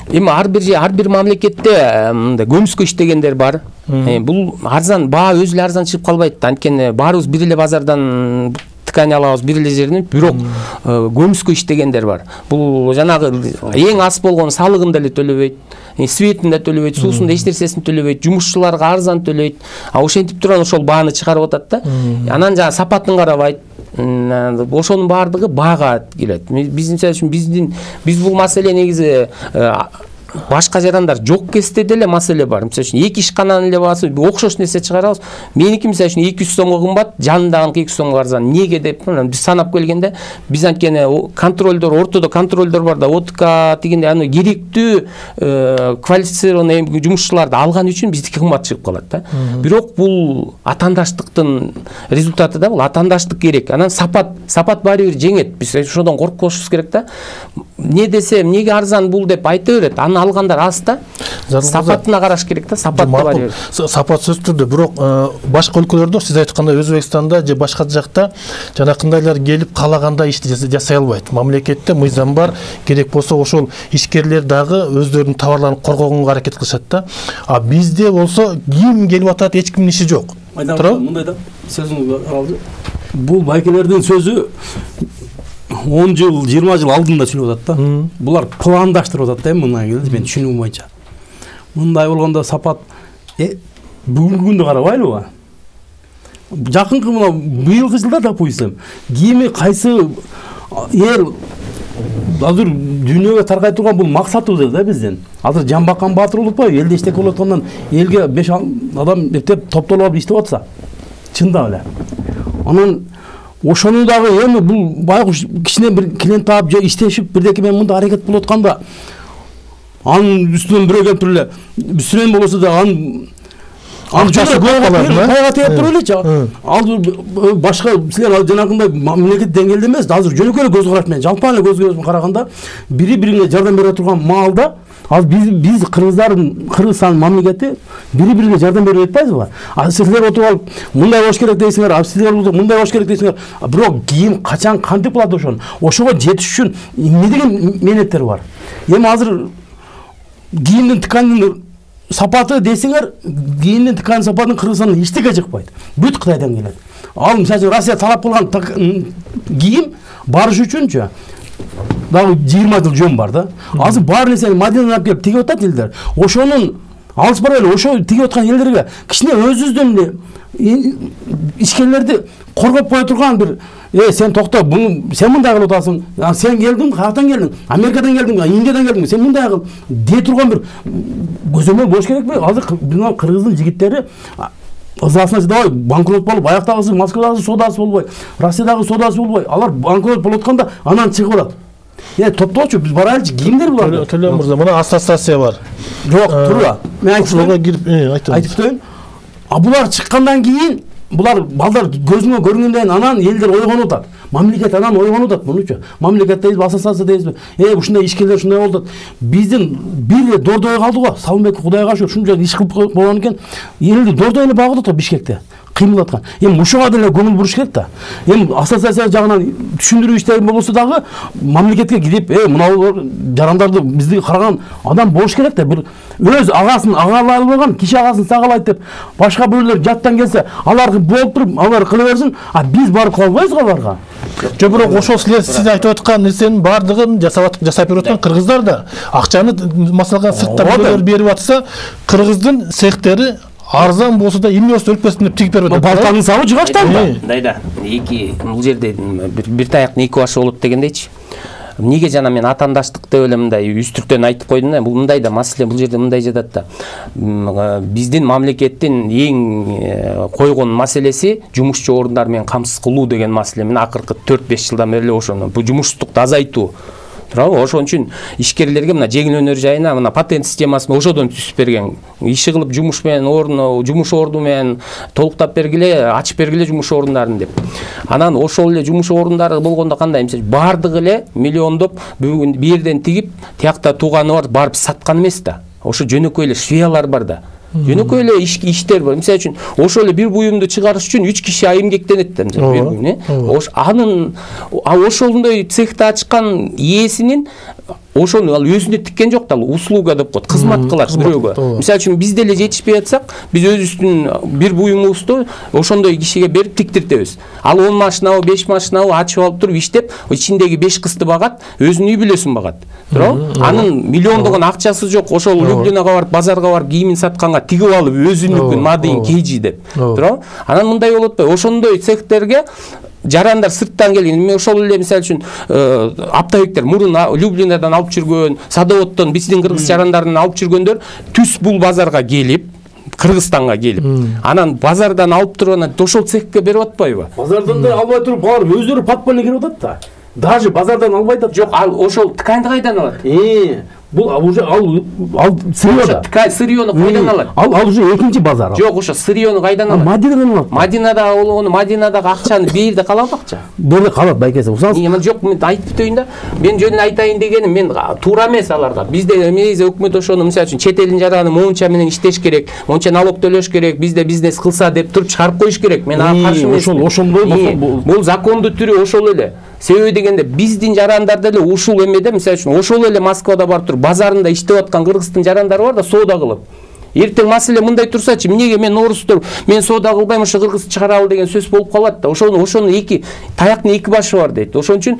Эми ар бир ар бир мамлекетте мындай көмүскө иштегендер бар. Бул арзан баа өзү эле арзан чыгып калбайт. Анткени баарыбыз бир эле базардан ткань алабыз, бир эле жерден, бирок көмүскө иштегендер бар. Бул жанагы эң аз болгон салыгын деле төлөбөйт, светин да төлөбөйт, суусун да эч нерсесин төлөбөйт, жумушчуларга арзан төлөйт. А ошентип турган ошол бааны чыгарып атат да. Анан жана сапатын карабайт. Ошонун баардыгы баага келет. Биз мисалы үчүн биздин биз бул маселе негизи башка жарандар жок кезде деле маселе бар. Мисалы үчүн эки ишкананын эле баасы окшош нерсе чыгарабыз. Меники мисалы үчүн эки жүз сомго кымбат, жанындагы эки жүз сомго арзан. Эмнеге деп биз санап келгенде, биз анткени контролдор, ортодо контролдор бар да, ОТК дегенде аны керектүү квалифицированный жумушчуларды алган үчүн биздики кымбат чыгып калат да. Бирок бул атаандаштыктын результаты да, бул атаандаштык керек. Анан сапат, сапат баары бир жеңет. Биз ошодон коркпошубуз керек да. Не десе, эмнеге арзан бул деп айта берет. Аны алгандар аз да. Сапатына караш керек да, сапатты бар бер. Сапат сөз түрдө, бирок башка өлкөлөрдө сиз айткандай Өзбекстанда же башка жакта жанакындайлар келип калагандай ишти жасай албайт. Мамлекетте мыйзам бар, керек болсо ошол ишкерлер дагы өздөрүнүн товарларын коргогонго аракет кылышат да. А бизде болсо ким келип атат, эч кимдин иши жок. Мындай да, сөзүңүз алды. Бул байкелердин сөзү он жыл, жыйырма жыл алдында сүйлөп атат да. Булар пландаштырып атат да, мына келди, мен түшүнүгүм боюнча. Мындай болгондо сапат бүгүнкү күндү карабайлыбы? Жакынкы мына быйылкы жылда, допустим, кими кайсы эл азыр дүйнөгө таркай турган бул максатыбыз да биздин. Азыр Жамбакан Баатыр улутпайбы, элде иштек болуп аткандан элге беш адам эптеп топтолуп алып иштеп атса, чындап эле. Анан ошону дагы эми бул байкуш кичине бир клиент таап же иштешип бирдеке менен мындай аракет болуп атканда, анын үстүнөн бирөө келип туруп эле, үстүнөн болосо да анын акчасы көп калат, пайга тээп туруп элечи. Ал башка силер жанагындай мамлекет деңгээлде эмес, азыр жөнөкөй эле көз караш менен, жалпан эле көз караш караганда бири-бирине жардам бере турган маалда, ал биз биз кыргыздардын, Кыргызстан мамлекети бири-бирине жардам берип атпайбызбы? А силер отуруп алып мындай болуш керек дейсиңер, а силер мындай болуш керек дейсиңер. Бирок кийин качан кантип кылат ошону? Ошого жетиш үчүн эмне деген менеттер бар? Эми азыр кийимдин тканын сапаты дейсиңер, кийимдин тканын сапатын Кыргызстандан эчтеке чыкпайт. Бүт Кытайдан келет. Ал мисалы Россия талап кылган кийим барыш үчүнчү дагы жыйырма жыл жөн бар да. Азыр бар нерсени Мадинадан алып келип тигип атат элдер. Ошонун алыс барбай ошо тигип аткан элдерге кичине өзүбүздөн эле ишкерлерди коргоп кое турган бир Э, сен токто, буну сен мындай кылып атасың. Сен келдиң, каяктан келдиң? Америкадан келдиң, Индиядан келдиң. Сен мындай кыл. Дей турган бир көзөмөл болуш керекпи? Азыр мына Кыргыздын жигиттери ызасына чыдабай банкрот болуп, аяктагысы Москвадагы содасы болбой, Россиядагы содасы болбой, алар банкрот болуп атканда анан чыгып алат. Э, топтоочу, биз барайлычы, кимдер булар? Төлөн мырза, мына ассоциация бар. Жок, турура. Мен айтып кирип, айтып. Айтып коеюн. А булар чыккандан кийин булар балдар көзүңө көргөндөн анан элдер ойгонуп атат. Мамлекет анан ойгонуп атат мунучу. Мамлекет дейбиз, ассоциация дейбиз. Э, ушундай ишкерлер ушундай болуп атат. Биздин бир дордой калды го. Салымбек Кудайга шүгүр ушунча иш кылып болгон экен. Элди дордой эле багып атат Бишкекте. Кыймыл аткан. Эми ушуга деле көңүл буруш керек да. Эми ассоциация жагынан түшүндүрүү иштери болсо дагы мамлекетке кирип, э, мына жарандарды бизди караган адам болуш керек да. Бир өз агасын агалай албаган, киши агасын сагалайт деп башка бирөөлөр жаттан келсе, алар болуп туруп, алар кыла берсин, а биз барып кала албайбыз го аларга. Жок, бирок ошол силер сиз айтып аткан нерсенин баардыгын жасап жасап берип аткан кыргыздар да. Акчаны маселага сырттан берип атса, кыргыздын цехтери арзан болсо да эмне болсо өлпөсүн деп тигип берип атат. Балтанын сабы жыгаштан да. Мындайда эки бул жерде бир таяктын эки башы болот дегендейчи. Эмнеге жана мен атаандаштык деп эле мындай үстүртөн айтып койдум да. Бул мындай да маселе, бул жерде мындай жатат да. Биздин мамлекеттин эң койгон маселеси жумушчу орундар менен камсыз кылуу деген маселе. Мен акыркы төрт беш жылдан бери эле ошону бул жумушсуздукту азайтуу. туурабы? Ошон үчүн ишкерлерге мына жеңил өнөр жайына мына патент системасын ошодон түзүп берген. Иши кылып жумуш менен орун, жумуш орду менен толуктап бергиле, ачып бергиле жумуш орундарын деп. Анан ошол эле жумуш орундары болгондо кандай? Мисалы бардыгы эле миллиондоп бүгүн бир жерден тигип, тиякта тууганы бар барып саткан эмес да. Ошо жөнөкөй эле швеялар бар да. Жөнөкөй эле иштер бар. Мисалы үчүн ошол эле бир буюмду чыгарыш үчүн үч киши эмгектенет да, мисалы бир буюм, э? Ош анын ошондой цехти ачкан ээсинин ошону ал өзүнө тиккен жок да, ал услуга деп коет, кызмат кылат бирөөгө. Мисалы үчүн биз деле жетишпей атсак, биз өзүбүздүн бир буюмубузду ошондой кишиге берип тиктиртебиз. Ал он машинабы, беш машинабы ачып алып туруп иштеп, ичиндеги беш кызды багат, өзүнүн үй бүлөсүн багат. Туурабы? Анын миллиондогон акчасы жок, ошол Люблинага барып, базарга барып кийимин сатканга тигип алып өзүнүкүн мадыйын кейжи деп. Туурабы? Анан мындай болуп атпайбы? Ошондой цехтерге жарандар сырттан келген. Мен ошол эле мисалы үчүн оптовиктер мурун Люблинадан алып жүргөн, Садоводдон биздин кыргыз жарандарын алып жүргөндөр түз бул базарга келип, Кыргызстанга келип, анан базардан алып туруп анан ошол цехке берип атпайбы? Базардан да албай туруп, алар өздөрү подпольно кирип атат да. Даже базардан албай атат. Жок, ал ошол тканьды кайдан алат? Э, бул уже ал ал сырьё. Ткань сырьёну кайдан алат? Ал ал уже экинчи базар. Жок, ошо сырьёну кайдан алат? Мадинадан алат. Мадинада болгону, Мадинадагы акчаны бирде калат акча. Деле калат байкеси. Эми жок, мен айтып өтөйүн да. Мен жөнүн айтайын дегеним, мен туура эмес аларга. Бизде эмес өкмөт ошону мисалы үчүн чет элдин жараны монча менен иштеш керек, монча налог төлөш керек, бизде бизнес кылса деп туруп чыгарып коюш керек. Мен ага каршы эмесмин. Ошол ошондой бул закондуу түрү ошол эле. Себеби дегенде биздин жарандар деле ушул эмеде, мисалы үчүн ошол эле Москвада барып туруп базарында иштеп аткан кыргыздын жарандары бар да, соода кылып. Эртең маселе мындай турсачы, эмнеге мен орустур, мен соода кылбайм, ошо кыргыз чыгаралы деген сөз болуп калат да. Ошону ошону эки таяктын эки башы бар дейт. Ошон үчүн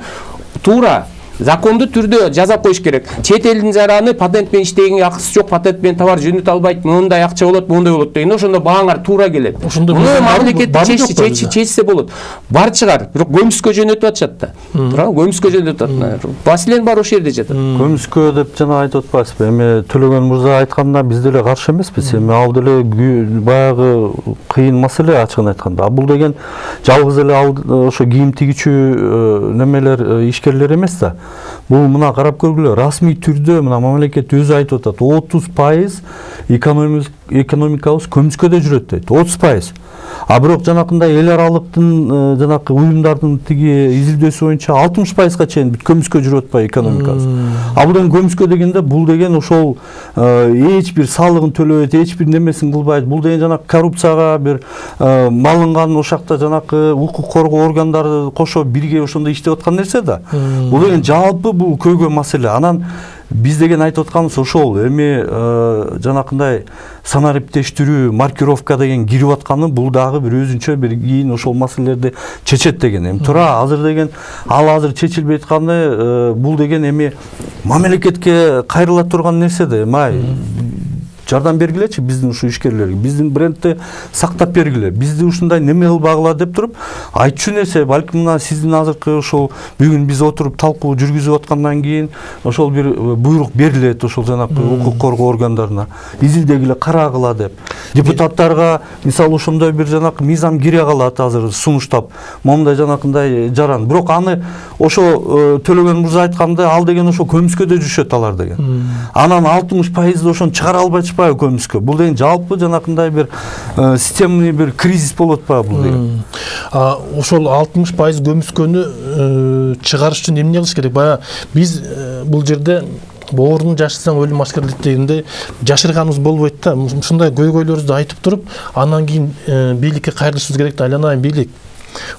туура закондуу түрдө жазап коюш керек. Чет элдин жараны патент менен иштегенге акысы жок, патент менен товар жөнөтө албайт, мындай акча болот, мындай болот деген. Ошондо бааңар туура келет. Муну мамлекет чечсе болот. Бар чыгар, бирок көмүскө жөнөтүп атышат да. Туурабы? Көмүскө жөнөтүп атат. Басилен бар ошол жерде жатат. Көмүскө деп жана айтып атпайсызбы? Эми Төлөгөн мырза айтканда биз деле каршы эмеспиз. Эми ал деле баягы кыйын маселе ачыгын айтканда. Бул деген жалгыз эле ошо кийим тигичүү немелер, ишкерлер эмес да. Бул мына карап көргүлө, расмий түрдө мына мамлекет өзү айтып атат, отуз пайыз экономикабыз көмүскөдө жүрөт дейт. отуз пайыз. А бирок жанакындай эл аралыктын жанакы уюмдардын тиги изилдөөсү боюнча алтымыш пайызга чейин бүт көмүскө жүрүп атпайбы экономикабыз. А бул деген көмүскө дегенде бул деген ошол эч бир салыгын төлөбөйт, эч бир немесин кылбайт. Бул деген жанакы коррупцияга бир малынган ошакта жанакы укук коргоо органдары кошо бирге ошондой иштеп аткан нерсе да. Бул деген жалпы бул көйгөй маселе. Анан биз деген айтып атканыбыз ошол. Эми жанакындай санариптештирүү, маркировка деген кирип атканы бул дагы бир өзүнчө бир кийин ошол маселелерди чечет деген. Эми туура азыр деген ал азыр чечилбей атканы бул деген эми мамлекетке кайрыла турган нерсе да. Эми жардам бергилечи биздин ушу ишкерлерге, биздин брендти сактап бергиле, бизди ушундай неме кылбагыла деп туруп айтчу нерсе. Балким мына сиздин азыркы ошол бүгүн биз отуруп талкуу жүргүзүп аткандан кийин ошол бир буйрук берилет ошол жанакы укук коргоо органдарына, изилдегиле, карагыла деп. Депутаттарга мисалы ошондой бир жанакы мыйзам кире калат азыр сунуштап, момундай жанакындай жаран. Бирок аны ошо Төлөгөн мырза айткандай, ал деген ошо көмүскөдө жүрүшөт алар деген. Анан алтымыш пайыз ошону чыгара албай көмүскө. Бул деген жалпы жанакындай бир системный бир кризис болуп атпайбы бул деген. А ошол алтымыш пайыз көмүскөнү чыгарыш үчүн эмне кылыш керек? Бая биз бул жерде боорун жашырсаң өлүм аскерлейт дегенде жашырганыбыз болбойт да. Ушундай көйгөйлөрүбүздү айтып туруп, андан кийин бийликке кайрылышыбыз керек да. Айланайын бийлик,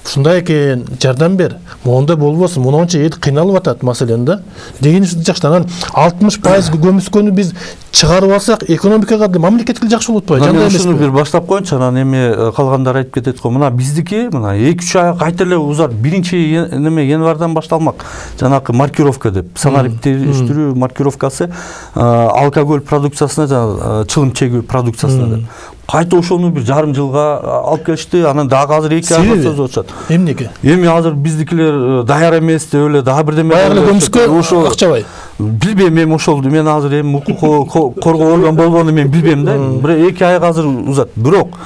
ушундай экен, жардам бер, моундай болбосун, монча эл кыйналып атат маселен да дегенибиз жакшы. Анан алтымыш пайыз көмүскөнү биз чыгарып алсак, экономикага да мамлекетке жакшы болот атпайбы? Жандай эмеспи? Ушуну бир баштап коеюнчу, анан эми калгандар айтып кетет го. Мына биздики мына эки үч ай кайта эле узат. Биринчи неме январдан башталмак. Жанакы маркировка деп, санариптештирүү маркировкасы алкоголь продукциясына, жана чылым чегүү продукциясына деп. Кайта ошону бир жарым жылга алып келишти. Анан дагы азыр эки айга созуп атышат. Эмнеге? Эми азыр биздикилер даяр эмес деп эле дагы бирдеме. Баягы көмүскө акчабай. Билбейм эми ошолду. Мен азыр эми укук коргоо орган болгону мен билбейм да. Бир эки айга азыр узат. Бирок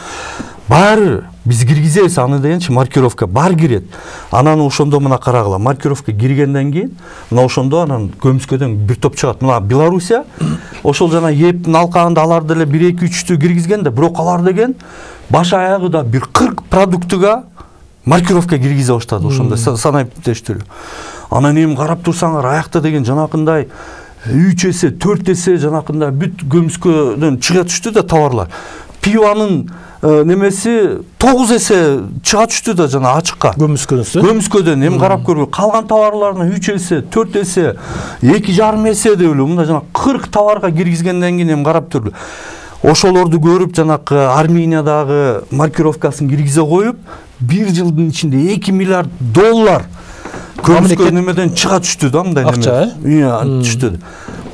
баары биз киргизебиз аны дегенчи маркировка бар кирет. Анан ошондо мына карагыла, маркировка киргенден кийин мына ошондо анан көмүскөдөн бир топ чыгат. Мына Белоруссия ошол жана эптин алкагында алар деле бир эки үчтү киргизген да, бирок алар деген баш аягы да бир кырк продуктуга маркировка киргизе баштады ошондой санайып тештирүү. Анан эми карап турсаңар, аякта деген жанакындай үч эсе, төрт эсе жанакындай бүт көмүскөдөн чыга түштү да товарлар. Пиванын немеси тогуз эсе чыга түштү да жана ачыкка. Көмүскөдөн. Көмүскөдөн эми карап көргүл. Калган товарлардын үч эсе, төрт эсе, эки жарым эсе деп эле мында жана кырк товарга киргизгенден кийин эми карап көргүл. Ошолорду көрүп жанакы Армениядагы маркировкасын киргизе коюп, бир жылдын ичинде эки миллиард доллар көмүскө немеден чыга түштү да, мындай неме. Акча, э? Түштү.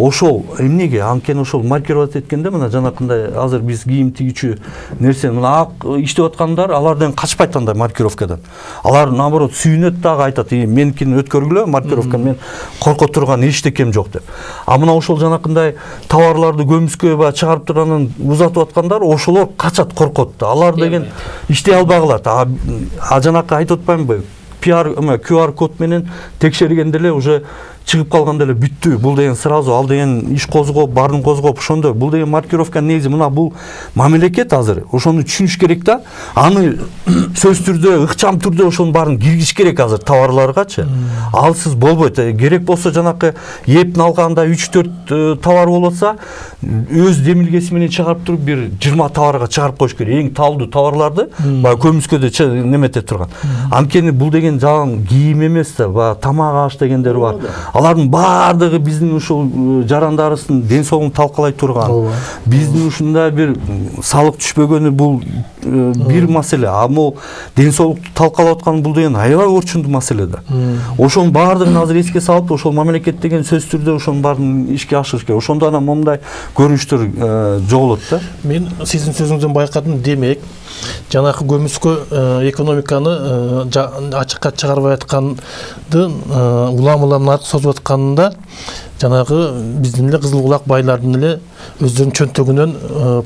Ошол эмнеге? Анткени ошол маркировать эткенде мына жанакындай азыр биз кийим тигүүчү нерсе мына ак иштеп аткандар алардан качпайт андай маркировкадан. Алар наоборот сүйүнөт дагы, айтат, меникини өткөргүлө, маркировка мен корко турган эчтекем жок деп. А мына ошол жанакындай товарларды көмүскө ба чыгарып туранын узатып аткандар ошолор качат, коркот да. Алар деген иштей албагылат. А жанакы айтып атпаймынбы? пи ар ку ар код менен текшергенде эле уже чыгып калганда эле бүттү. Бул деген сразу ал деген иш козгоп, баарын козгоп ошондой. Бул деген маркировка негизи мына бул мамлекет азыр ошону түшүнүш керек да. Аны сөз түрдө, ыкчам түрдө ошонун баарын киргизиш керек азыр товарларгачы. Алсыз болбойт. Керек болсо жанакы эптин алганда үч төрт товар болуп атса, өз демилгеси менен чыгарып туруп бир жыйырма товарга чыгарып коюш керек. Эң талдуу товарларды баягы көмүскөдө немете турган. Анткени бул деген жалаң кийим эмес да, баягы тамак аш дегендер бар. Алардын баардыгы биздин ушул жарандарыбыздын ден соолугун талкалай турган. Биздин ушундай бир салык түшпөгөнү бул бир маселе. А могу ден соолукту талкалап аткан бул деген аябай орчундуу маселе да. Ошонун баардыгын азыр эске салып, ошол мамлекет деген сөз түрдө ошонун баарын ишке ашырыш керек. Ошондо анан момундай көрүнүштөр жоголот да. Мен сиздин сөзүңүздөн байкадым, демек жанакы көмүскө экономиканы ачыкка чыгарбай аткандын улам улам наркы созуп атканында жанагы биздин эле кызыл кулак байлардын эле өздөрүнүн чөнтөгүнөн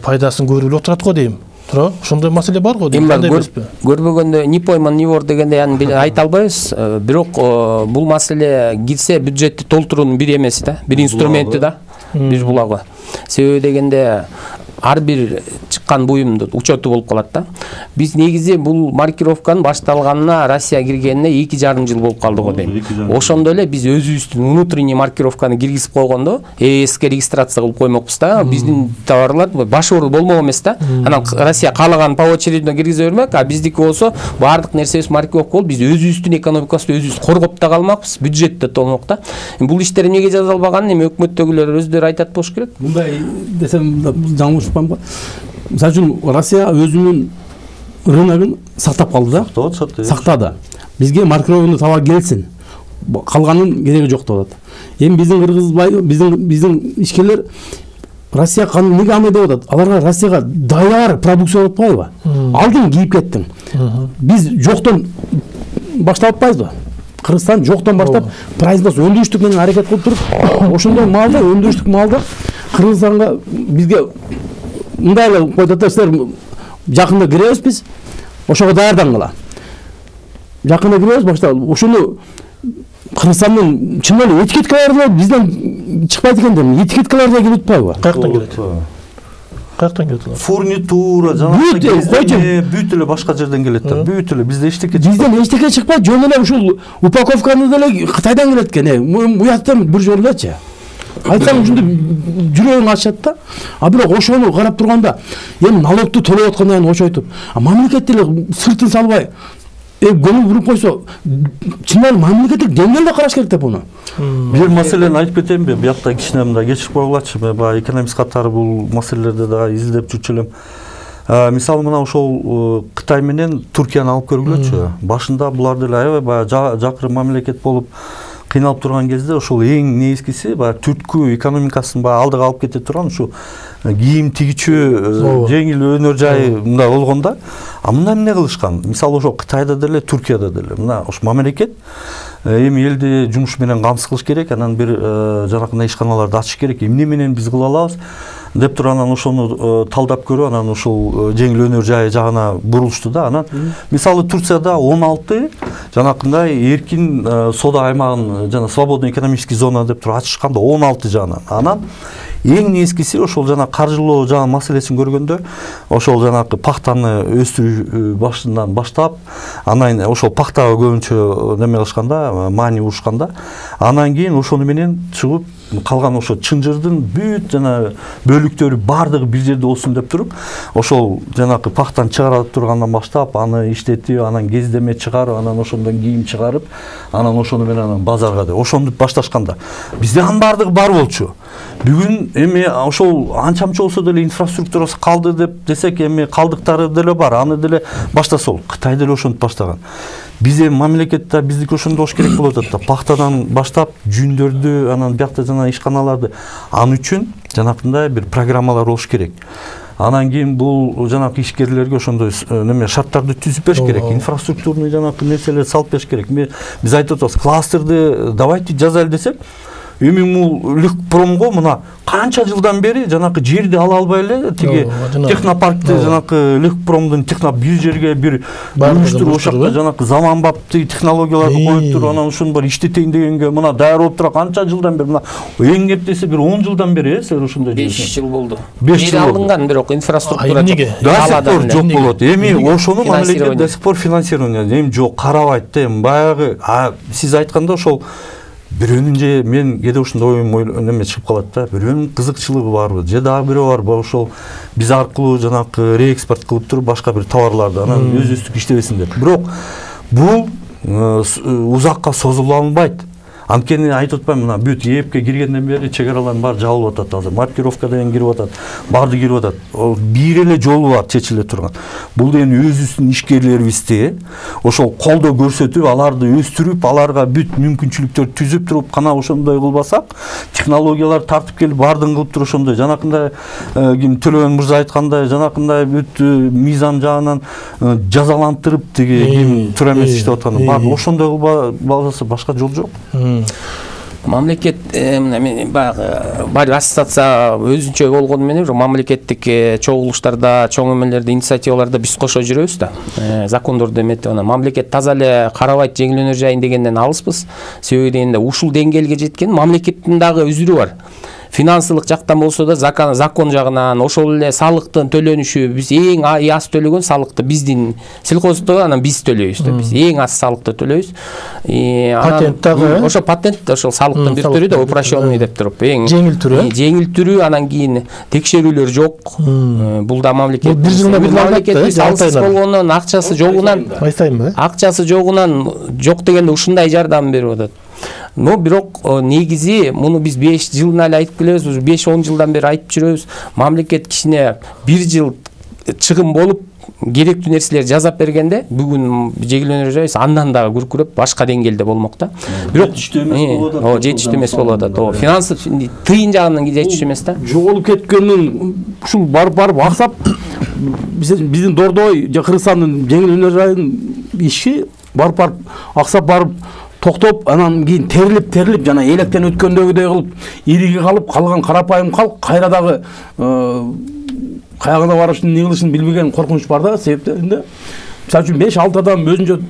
пайдасын көрүп эле отурат го дейм. Туура, ошондой маселе бар го дейм. Көрбөгөндө не пойман не вор дегенде аны айта албайбыз, бирок бул маселе кирсе бюджетти толтуруунун бир эмеси да, бир инструменти да, бир булагы. Себеби дегенде ар бир чыккан буюмдун учету болуп калат да. Биз негизи бул маркировканын башталганына, Россия киргенине эки жарым жыл болуп калды го дейм. Ошондо эле биз өзүбүздүн внутренний маркировканы киргизип койгондо э э эске регистрация кылып коймокпуз да. Биздин товарлар баш оор болмок эмес да. Анан Россия каалаган по очередно киргизе бермек, а биздики болсо баардык нерсебиз маркировка болуп, биз өзүбүздүн экономикабызды өзүбүз коргоп да калмакпыз, бюджет да толмок да. Бул иштер эмнеге жазылбаганын эми өкмөттөгүлөр өздөрү айтат болуш керек. Мындай десем жаңылышпайм го. Мисалы үчүн Россия өзүнүн рыногун сактап калды да. Сактады. Бизге маркировкалуу товар келсин. Калганын кереги жок деп атат. Эми биздин кыргыз биздин биздин ишкерлер Россия канын эмнеге алмай деп атат? Аларга Россияга даяр продукция алып атпайбы? Алдың кийип кеттиң. Биз жоктон баштап атпайбызбы? Кыргызстан жоктон баштап производство өндүрүштүк менен аракет кылып туруп, ошондой малды, өндүрүштүк малды Кыргызстанга бизге мындай эле койду да, силер жакында киребиз биз, ошого даярдангыла. Жакында киребиз, башта ошону Кыргызстандын чын эле этикеткалары бизден чыкпайт экен деп, этикеткалар да келип атпайбы? Каяктан келет? Каяктан келет алар? Фурнитура, жанагы бүт эле башка жерден келет да. Бүт эле бизде эчтеке чыкпайт. Бизден эчтеке чыкпайт, жөн эле ушул упаковканы деле Кытайдан келет экен. Буяктан бир жолдочу. Айтсаң ушунда жүрөгүң ачат да. А бирок ошону карап турганда, эми налогту төлөп аткандан кийин очойтуп, а мамлекет деле сыртын салбай, э көңүл буруп койсо, чынын мамлекеттик деңгээлде караш керек да буну. Бир маселени айтып кетемби? Биякта кичине мындай кечирип койгулачы, баягы экономист катары бул маселелерди да изилдеп жүрчү элем. Мисалы мына ошол Кытай менен Туркияны алып көргүлөчү. Башында булар деле аябай баягы жакыры мамлекет болуп кыйналып турган кезде ошол эң негизгиси баягы түрткү экономикасын баягы алдыга алып кете турган ушу кийим тигичүү жеңил өнөр жай мындай болгон да. А мында эмне кылышкан? Мисалы ошо Кытайда деле, Туркияда деле мына ошо мамлекет эми элди жумуш менен камсыз кылыш керек, анан бир жанакындай ишканаларды ачыш керек. Эмне менен биз кыла алабыз? деп туруп анан ошону талдап көрүп анан ушул жеңил өнөр жайы жагына бурулушту да. Анан мисалы Турцияда он алты жанакындай эркин соода аймагын жана свободный экономический зона деп туруп ачышканда он алты жагынан. Анан эң нескиси ошол жана каржылоо жана маселесин көргөндө ошол жанакы пахтаны өстүрүү башынан баштап, анан ошол пахтага көбүнчө неме кылышканда, маани урушканда, анан кийин ошону менен чыгып калган ошо чынжырдын бүт жана бөлүктөрү баардыгы бир жерде болсун деп туруп, ошол жанакы пахтаны чыгарып тургандан баштап, аны иштетип, анан кездеме чыгарып, анан ошондон кийим чыгарып, анан ошону менен анан базарга деп ошону башташканда бизде анын баардыгы бар болчу. Бүгүн эми ошол анча-мынча болсо деле инфраструктурасы калды деп десек, эми калдыктары деле бар, аны деле баштаса болот. Кытай деле ошентип баштаган. Биз эми мамлекетте биздики ошондой болуш керек болуп атат да. Пахтадан баштап жүндөрдү, анан биякта жана ишканаларды, аны үчүн жанакындай бир программалар болуш керек. Анан кийин бул жанакы ишкерлерге ошондой неме шарттарды түзүп бериш керек, инфраструктурный жанакы нерселерди салып бериш керек. Биз айтып атабыз, кластерди давайте жазайлы десек, эми бул Лихпромго мына канча жылдан бери жанакы жерди ала албай эле тиги технопаркти жанакы Лихпромдун техно бир жерге бир уюштуруп ошакта жанакы заманбап технологияларды коюп туруп анан ошону бар иштетейин дегенге мына даяр болуп тура канча жылдан бери, мына эң кеп десе бир он жылдан бери, силер ошондой беш жыл болду. беш жыл алынган, бирок инфраструктура жок жок болот. Эми ошону мамлекет до сих пор финансирование эми жок, карабайт да. Эми баягы сиз айтканда ошол бирөөнүн же мен кээде ушундай оюм неме чыгып калат да, бирөөнүн кызыкчылыгы барбы же дагы бирөө барбы ошол биз аркылуу жанакы реэкспорт кылып туруп башка бир товарларды анан өзүбүздүк иштебесин деп. Бирок бул узакка созулуп алынбайт. Анткени айтып атпаймынбы, мына бүт ээпке киргенден бери чек аралардын баары жабылып атат азыр. Маркировка деген кирип атат, баарды кирип атат. Бир эле жолу бар чечиле турган. Бул эми өзүбүздүн ишкерлерибизди ошол колдоо көрсөтүп, аларды өстүрүп, аларга бүт мүмкүнчүлүктөрдү түзүп туруп, кана ошондой кылбасак, технологиялар тартып келип баардыгын кылып туруп ошондой жанакындай ким Төлөгөн мырза айткандай жанакындай бүт мыйзам жагынан жазалантырып тиги ким туура эмес иштеп атканы бар. Ошондой кылбаса башка жол жок. Мамлекет баягы бар ассоциация өзүнчө болгону менен мамлекеттик чогулуштарда, чоң эмелерде, инициативаларда биз кошо жүрөбүз да. Закондорду эметип анан мамлекет таза эле карабайт жеңил өнөр жайын дегенден алыспыз. Себеби дегенде ушул деңгээлге жеткен мамлекеттин дагы үзүрү бар. Финансылык жактан болсо да закон, закон жагынан ошол эле салыктын төлөнүшү, биз эң аз төлөгөн салыкты биздин сельхоздо анан биз төлөйбүз да. Биз эң аз салыкты төлөйбүз. Патент дагы ошо патент ошол салыктын бир түрү да, упрощенный деп туруп, эң жеңил түрү. Жеңил түрү, анан кийин текшерүүлөр жок. Бул да мамлекет. Бир жылда бир мамлекет салыксыз болгондон, акчасы жогунан, айтайынбы? Акчасы жогунан жок дегенде ушундай жардам берип атат. Но бирок негизи муну биз беш жылдан эле айтып келебиз, уже беш он жылдан бери айтып жүрөбүз. Мамлекет кичине бир жыл чыгым болуп керектүү нерселерди жасап бергенде бүгүн жеңил өнөр жайы андан дагы күркүрөп башка деңгээлде болмок да. Бирок жетиштүү эмес болуп атат. О, жетиштүү эмес болуп атат. О, финансы тыйын жагынан жетиштүү эмес да. Жоголуп кеткендин ушул барып барып аксап биздин Дордой же Кыргызстандын жеңил өнөр жайынын иши барып барып аксап барып токтоп, анан кийин терилип терилип жана электен өткөндөгүдөй кылып ириги калып калган карапайым калк кайра дагы каягына барышын эмне кылышын билбеген коркунуч бар да. Себептеринде мисалы үчүн беш алты адам өзүнчө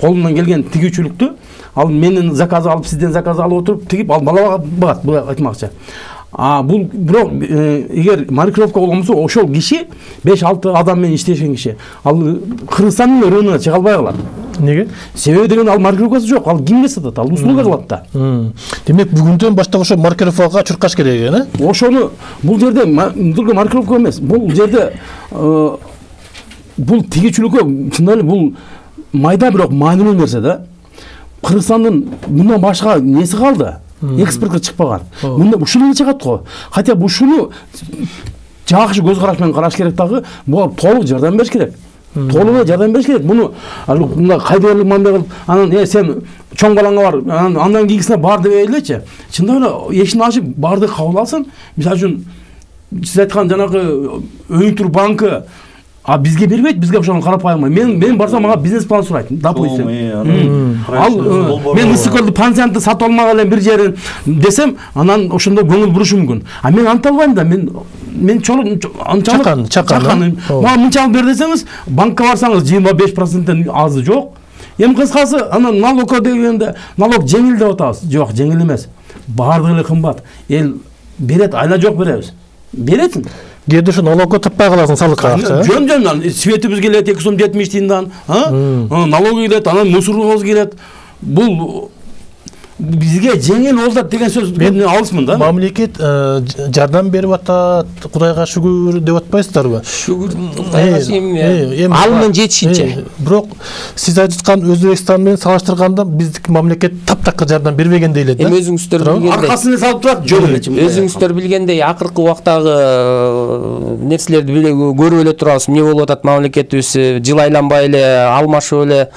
колунан келген тигүүчүлүктү ал менин заказ алып, сизден заказ алып отуруп тигип ал бала багат, бул айтмакчы. А бул бирок эгер маркировка болгон болсо ошол киши беш алты адам менен иштешен киши ал Кыргызстандын рыногуна чыга албай калат. Неге? Себеби деген ал маркировкасы жок, ал кимге сатат, ал услуга кылат да. Демек бүгүндөн баштап ошо маркировкага чуркаш керек экен, э? Ошону бул жерде только маркировка эмес, бул жерде бул тигичүлүккө чындап эле бул майда бирок маанилүү нерсе да. Кыргызстандын мындан башка неси калды? Экспортко чыкпаган. Мында ушул эле чыгат го. Хотя бу ушуну жакшы көз караш менен караш керек дагы, буга толук жардам бериш керек. Толук жардам бериш керек. Муну мында кайдырлык мамиле кылып, анан э сен чоң балаңа бар, анан андан кийинкисине бар дебей элечи. Чындап эле эшин ачып барды кабыл алсын. Мисалы үчүн сиз айткан жанагы өйүктүр банкы а бизге бербейт, бизге ошону карап коймой. Мен мен барсам мага бизнес план сурайт. Допустим. Ал мен Ысыкөлдү пансионатты сатып алмак элем бир жерин десем, анан ошондо көңүл бурушу мүмкүн. А мен анта албайм да, мен мен чоң чакан чакан мага мынча бер десеңиз, банкка барсаңыз жыйырма беш проценттен азы жок. Эми кыскасы, анан налогко дегенде налог жеңил деп атабыз. Жок, жеңил эмес. Бардыгы эле кымбат. Эл берет, айла жок беребиз. Бересиң. Кээде ушу налогко таппай каласың салыкка акча. Жөн жөн, светибиз келет эки сом жетимиш тыйындан, а? Налог келет, анан мусорубуз келет. Бул бизге жеңил болот деген сөз мен алысмын да. Мамлекет жардам берип атат, Кудайга шүгүр деп атпайсыздарбы? Шүгүр Кудайга эми алымын жетишинче. Бирок сиз айткан Өзбекстан менен салыштырганда биздики мамлекет таптакыр жардам бербегендей эле да. Эми өзүңүздөр билгендей. Аркасына салып турат жөн эле. Өзүңүздөр билгендей, акыркы убактагы нерселерди көрүп эле турабыз. Эмне болуп атат мамлекетибиз жыл айланбай эле алмашып эле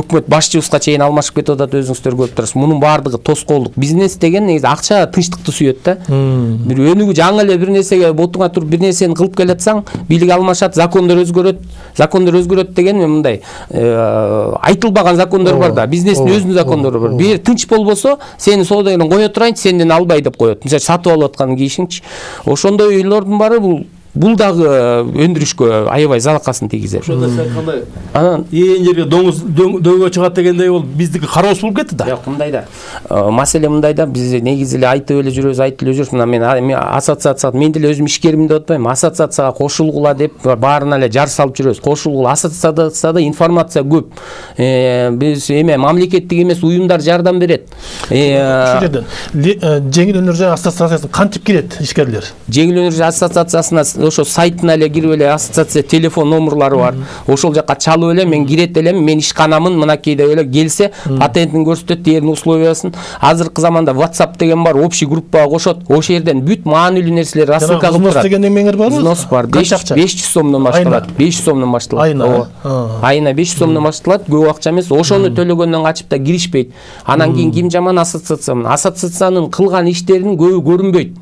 өкмөт башчыбызга чейин алмашып кетип атат, өзүңүздөр көрүп турасыз. Мунун баардыгы тоскоолдук. Бизнес деген негизи акча тынчтыкты сүйөт да. Бир өнүгүү жаңы эле бир нерсеге ботуңа туруп бир нерсени кылып келатсаң, бийлик алмашат, закондор өзгөрөт. Закондор өзгөрөт деген мындай айтылбаган закондор бар да. Бизнестин өзүнүн закондору бар. Бир тынч болбосо, сени соодагерин кое турайынчы, сенден албай деп коет. Мисалы сатып алып аткан кийишиңчи. Ошондой ыйлардын баары бул бул дагы өндүрүшкө аябай залакасын тийгизет. Ошондо сен кандай? Анан ээн жерге доңуз дөңгө чыгат дегендей бол биздики кароос болуп кетти да. Жок, мындай да. Маселе мындай да, биз негизи эле айтып эле жүрөбүз, айтып эле жүрөбүз. Мына мен ассоциацияга, мен деле өзүм ишкермин деп атпайм. Ассоциацияга кошулгула деп баарына эле жар салып жүрөбүз. Кошулгула, ассоциацияда информация көп. Биз эме мамлекеттик эмес уюмдар жардам берет. Ушул жерден жеңил өнөр жай ассоциациясына кантип кирет ишкерлер? Жеңил өнөр жай ассоциациясына ошо сайтына эле кирип эле, ассоциация телефон номерлары бар. Ошол жака чалып эле мен кирет элем, мен ишканамын, мынакей деп эле келсе, патентин көрсөтөт, дээрин условиясын. Азыркы заманда WhatsApp деген бар, общий группага кошот. Ошол жерден бүт маанилүү нерселер рассылка кылып турат. Взнос деген эмеңер барбы? Взнос бар. беш жүз сомдон башталат. беш жүз сомдон башталат. Айына. Айына беш жүз сомдон башталат. Көп акча эмес. Ошону төлөгөндөн качып да киришпейт. Анан кийин ким жаман? Ассоциациянын. Ассоциациянын кылган иштеринин көбү көрүнбөйт.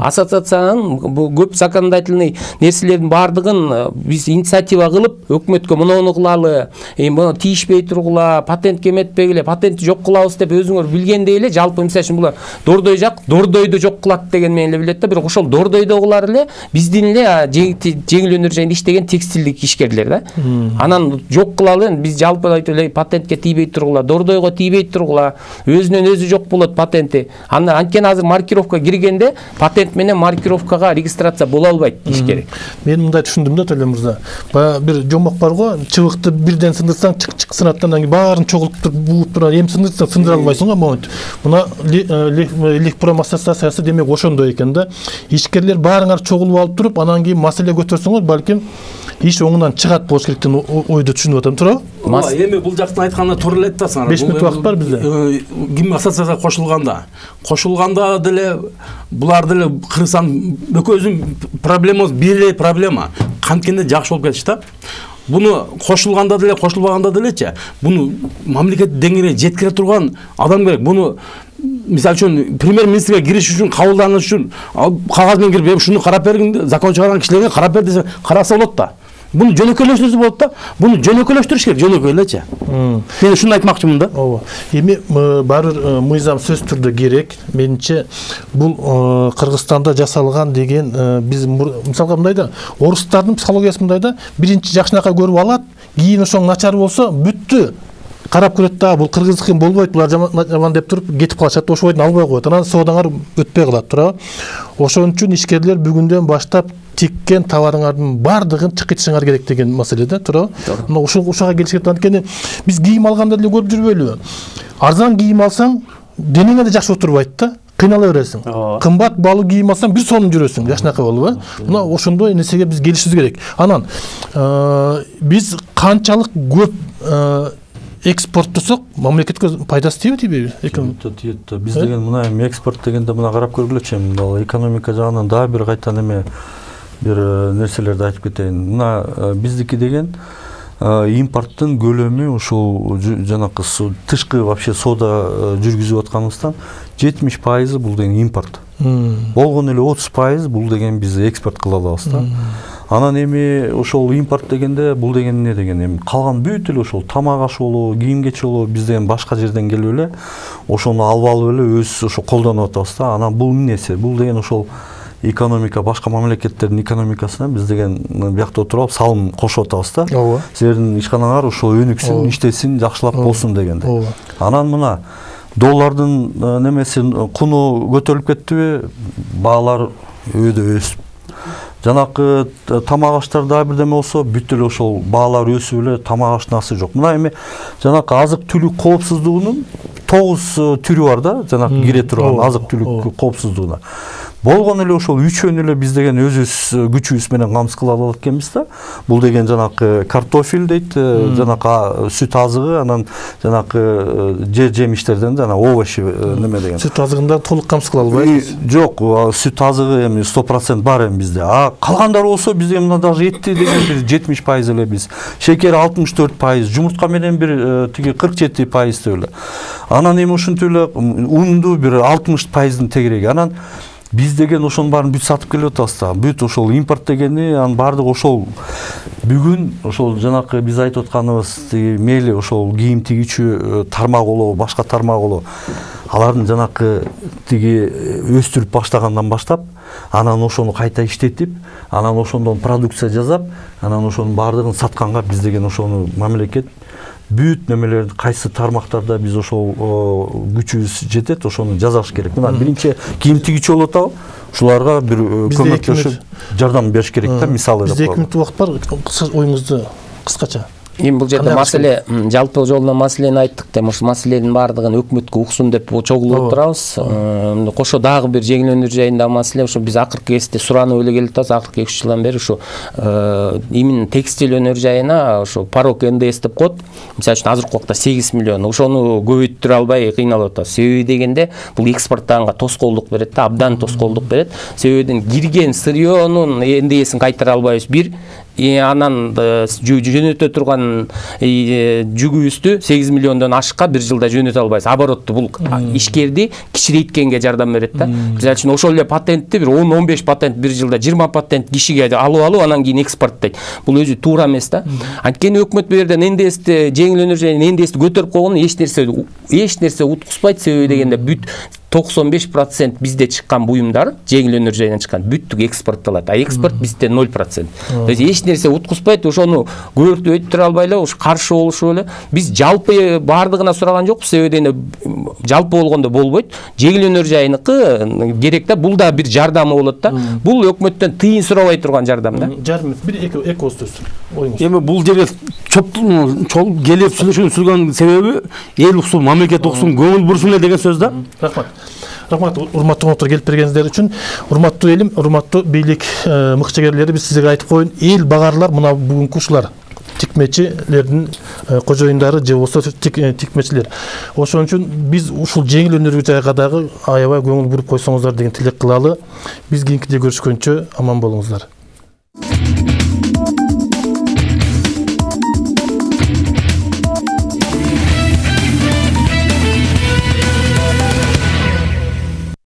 Ассоциациянын бул көп законодательный нерселердин баардыгын биз инициатива кылып, өкмөткө муну кылалы, эми тийишпей тургула, патентке эметпегиле, патентти жок кылабыз деп өзүңөр билгендей эле, жалпы мисалы үчүн булар дордой жак, дордойду жок кылат деген менен эле билет да, бирок ошол дордойдогулар эле биздин эле жеңил өнөр жайында иштеген текстилдик ишкерлер да. Анан жок кылалы, биз жалпы айтып эле патентке тийбей тургула, дордойго тийбей тургула, өзүнөн өзү жок болот патенти. Анткени азыр маркировка киргенде патент менен маркировкага регистрация боло албайт ишкер. Мен мындай түшүндүм да, Төле мырза. Баягы бир жомок бар го, чыбыкты бирден сындырсаң, чык-чык сынат, анан кийин баарын чогултуп туруп, бууп туруп, эми сындырсаң сындыра албайсың го, момент. Мына Лихпром ассоциациясы демек ошондой экен да. Ишкерлер баарыңар чогулуп алып туруп, анан кийин маселе көтөрсөңөр, балким иш оңунан чыгат болуш керек деген ойду түшүнүп атам, туурабы? Эми бул жактан айтканда туура эле айтасың. беш мүнөт убакыт бар бизде. Ким ассоциацияга кошулганда, кошулганда деле булар деле Кыргызстан экөөбүздүн проблемабыз бир эле проблема. Канткенде жакшы болуп кетиш да. Буну кошулганда деле, кошулбаганда делечи, буну мамлекет деңгээлине жеткире турган адам керек. Буну мисалы үчүн премьер-министрге кириш үчүн, кабылданыш үчүн кагаз менен кирип, ушуну карап бергин, закон чыгарган кишилерге карап бер десе, караса болот да. Буну жөнөкөйлөштүрсө болот да. Буну жөнөкөйлөштүрүш керек, жөнөкөй элечи. Мен ушуну айтмакчымын да. Ооба. Эми баары бир мыйзам сөз түрдө керек. Менимче бул Кыргызстанда жасалган деген биз мисалга мындай да, орустардын психологиясы мындай да, биринчи жакшынакай көрүп алат, кийин ошоң начар болсо бүттү. Карап көрөт да, бул кыргыздыкы болбойт, булар жаман деп туруп кетип калышат, ошол бойдон албай коет. Анан соодаңар өтпөй калат, туурабы? Ошон үчүн ишкерлер бүгүндөн баштап тиккен товарыңардын баардыгын чыкытышыңар керек деген маселе да, туурабы? Мына ушул ушуга келиш керек. Анткени биз кийим алганда деле көрүп жүрбөйлүбү? Арзан кийим алсаң, денеңе да жакшы отурбайт да. Кыйнала бересиң. Кымбат баалуу кийим алсаң, бир сонун жүрөсүң, жакшынакай болуп, э? Мына ошондой нерсеге биз келишибиз керек. Анан биз канчалык көп экспорттосок, мамлекетке пайдасы тийби, тийбейби? Тиет. Биз деген мына эми экспорт дегенде мына карап көргүлөчү, эми экономика жагынан дагы бир кайтан эме бир нерселерди айтып кетейин. Мына биздики деген импорттун көлөмү ушул жанакы тышкы вообще соода жүргүзүп атканыбыздан жетимиш пайызы бул деген импорт. Болгон эле отуз пайыз бул деген биз экспорт кыла алабыз да. Анан эми ошол импорт дегенде бул деген эмне деген эми калган бүт эле ошол тамак аш болобу, кийим кечи болобу биз деген башка жерден келип эле ошону алып алып эле өз ошо колдонуп атабыз да. Анан бул эмнеси? Бул деген ошол экономика башка мамлекеттердин экономикасына биз деген биякта отуруп салым кошуп атабыз да. Ооба. Силердин ишканалар ошол өнүксүн, иштесин, жакшылап болсун дегенде. Ооба. Анан мына доллардын немеси куну көтөрүлүп кеттиби? Баалар өйдө өсүп. Жанакы тамак аштарда бирдеме болсо бүт эле ошол баалар өсүп эле тамак ашнасы жок. Мына эми жанакы азык түлүк коопсуздугунун тогуз түрү бар да, жанакы кире турган азык түлүк коопсуздугуна. Болгон эле ошол үчөөнү эле биз деген өзүбүз күчүбүз менен камсыз кыла алат экенбиз да. Бул деген жанакы картофель дейт, жанакы сүт азыгы, анан жанакы же жемиштерден жана овощи неме деген. Сүт азыгында толук камсыз кыла албайбыз. Жок, сүт азыгы эми сто процент бар эми бизде. А калгандар болсо бизде мына даже этти деген бир жетимиш пайыз эле биз. Шекер алтымыш төрт пайыз, жумуртка менен бир тиги кырк жети пайыз эле. Анан эми ушинтип эле унду бир алтымыш пайыздын тегереги. Анан биз деген ошонун баарын бүт сатып келип атабыз да. Бүт ошол импорт дегени, анын баардыгы ошол бүгүн ошол жанакы биз айтып атканыбыз мейли ошол кийим тигүүчү тармак болобу, башка тармак болобу. Алардын жанакы тиги өстүрүп баштагандан баштап, анан ошону кайта иштетип, анан ошондон продукция жасап, анан ошонун баардыгын сатканга биз деген ошону мамлекет бүт немелерди кайсы тармактарда биз ошол күчүбүз жетет, ошону жасаш керек. Мына биринчи кийим тигүүчү болуп атабы? Ушуларга бир көмөктөшүп жардам бериш керек да, мисалы. Бизде эки мүнөт убакыт бар, оюңузду кыскача. Эми бул жерде маселе жалпы жолунан маселени айттык да, ошол маселенин баардыгын өкмөткө уксун деп чогулуп отурабыз. Кошо дагы бир жеңилдетүү жайындагы маселе, ошо биз акыркы кезде суранып эле келип атабыз, акыркы эки үч жылдан бери ошо именно текстиль өнөр жайына ошо порог эн дэ эс деп коет. Мисалы үчүн азыркы убакта сегиз миллион, ошону көбөйтүрө албай кыйналып атабыз. Себеби дегенде бул экспорттаганга тоскоолдук берет да, абдан тоскоолдук берет. Себебиден кирген сырьёнун эн дэ эсин кайтара албайбыз бир. Анан жөнөтө турган жүгүбүздү сегиз миллиондон ашыкка бир жылда жөнөтө албайбыз. Оборотто бул ишкерди кичирейткенге жардам берет да. Мисалы үчүн ошол эле патентти бир он он беш патент бир жылда жыйырма патент кишиге алып алып, анан кийин экспорттойт. Бул өзү туура эмес да. Анткени өкмөт бул жерден эн дэ эсти, жеңил өнөр жайын эн дэ эсти көтөрүп койгон эч нерсе эч нерсе уткузбайт. Себеби дегенде бүт токсон беш процент бизде чыккан буюмдар, жеңил өнөр жайынан чыккан бүттүк экспорттолот. А экспорт бизде ноль процент. То есть эч нерсе уткузбайт, ошону көбөртүп өйттүрө албай эле, ушу каршы болушуп эле. Биз жалпы баардыгына сураган жокпуз, себеби дегенде жалпы болгондо болбойт. Жеңил өнөр жайыныкы керек да, бул да бир жардамы болот да. Бул өкмөттөн тыйын сурабай турган жардам да. Жарым бир эки эки ооз сөз. Оюңуз. Эми бул жерге чогулуп келип сүйлөшүүнүн сүргөн себеби эл уксун, мамлекет уксун, көңүл бурсун эле деген сөз да. Рахмат. Рахмат, урматтуу конуктар, келип бергениңиздер үчүн. Урматтуу элим, урматтуу бийлик мыкчыгерлери, биз сизге айтып коеюн, эл багарлар мына бүгүнкү ушулар тикмечилердин кожоюндары же болбосо тикмечилер. Ошон үчүн биз ушул жеңил өнөр жайга дагы аябай көңүл буруп койсоңуздар деген тилек кылалы. Биз кийинкиде көрүшкөнчө аман болуңуздар.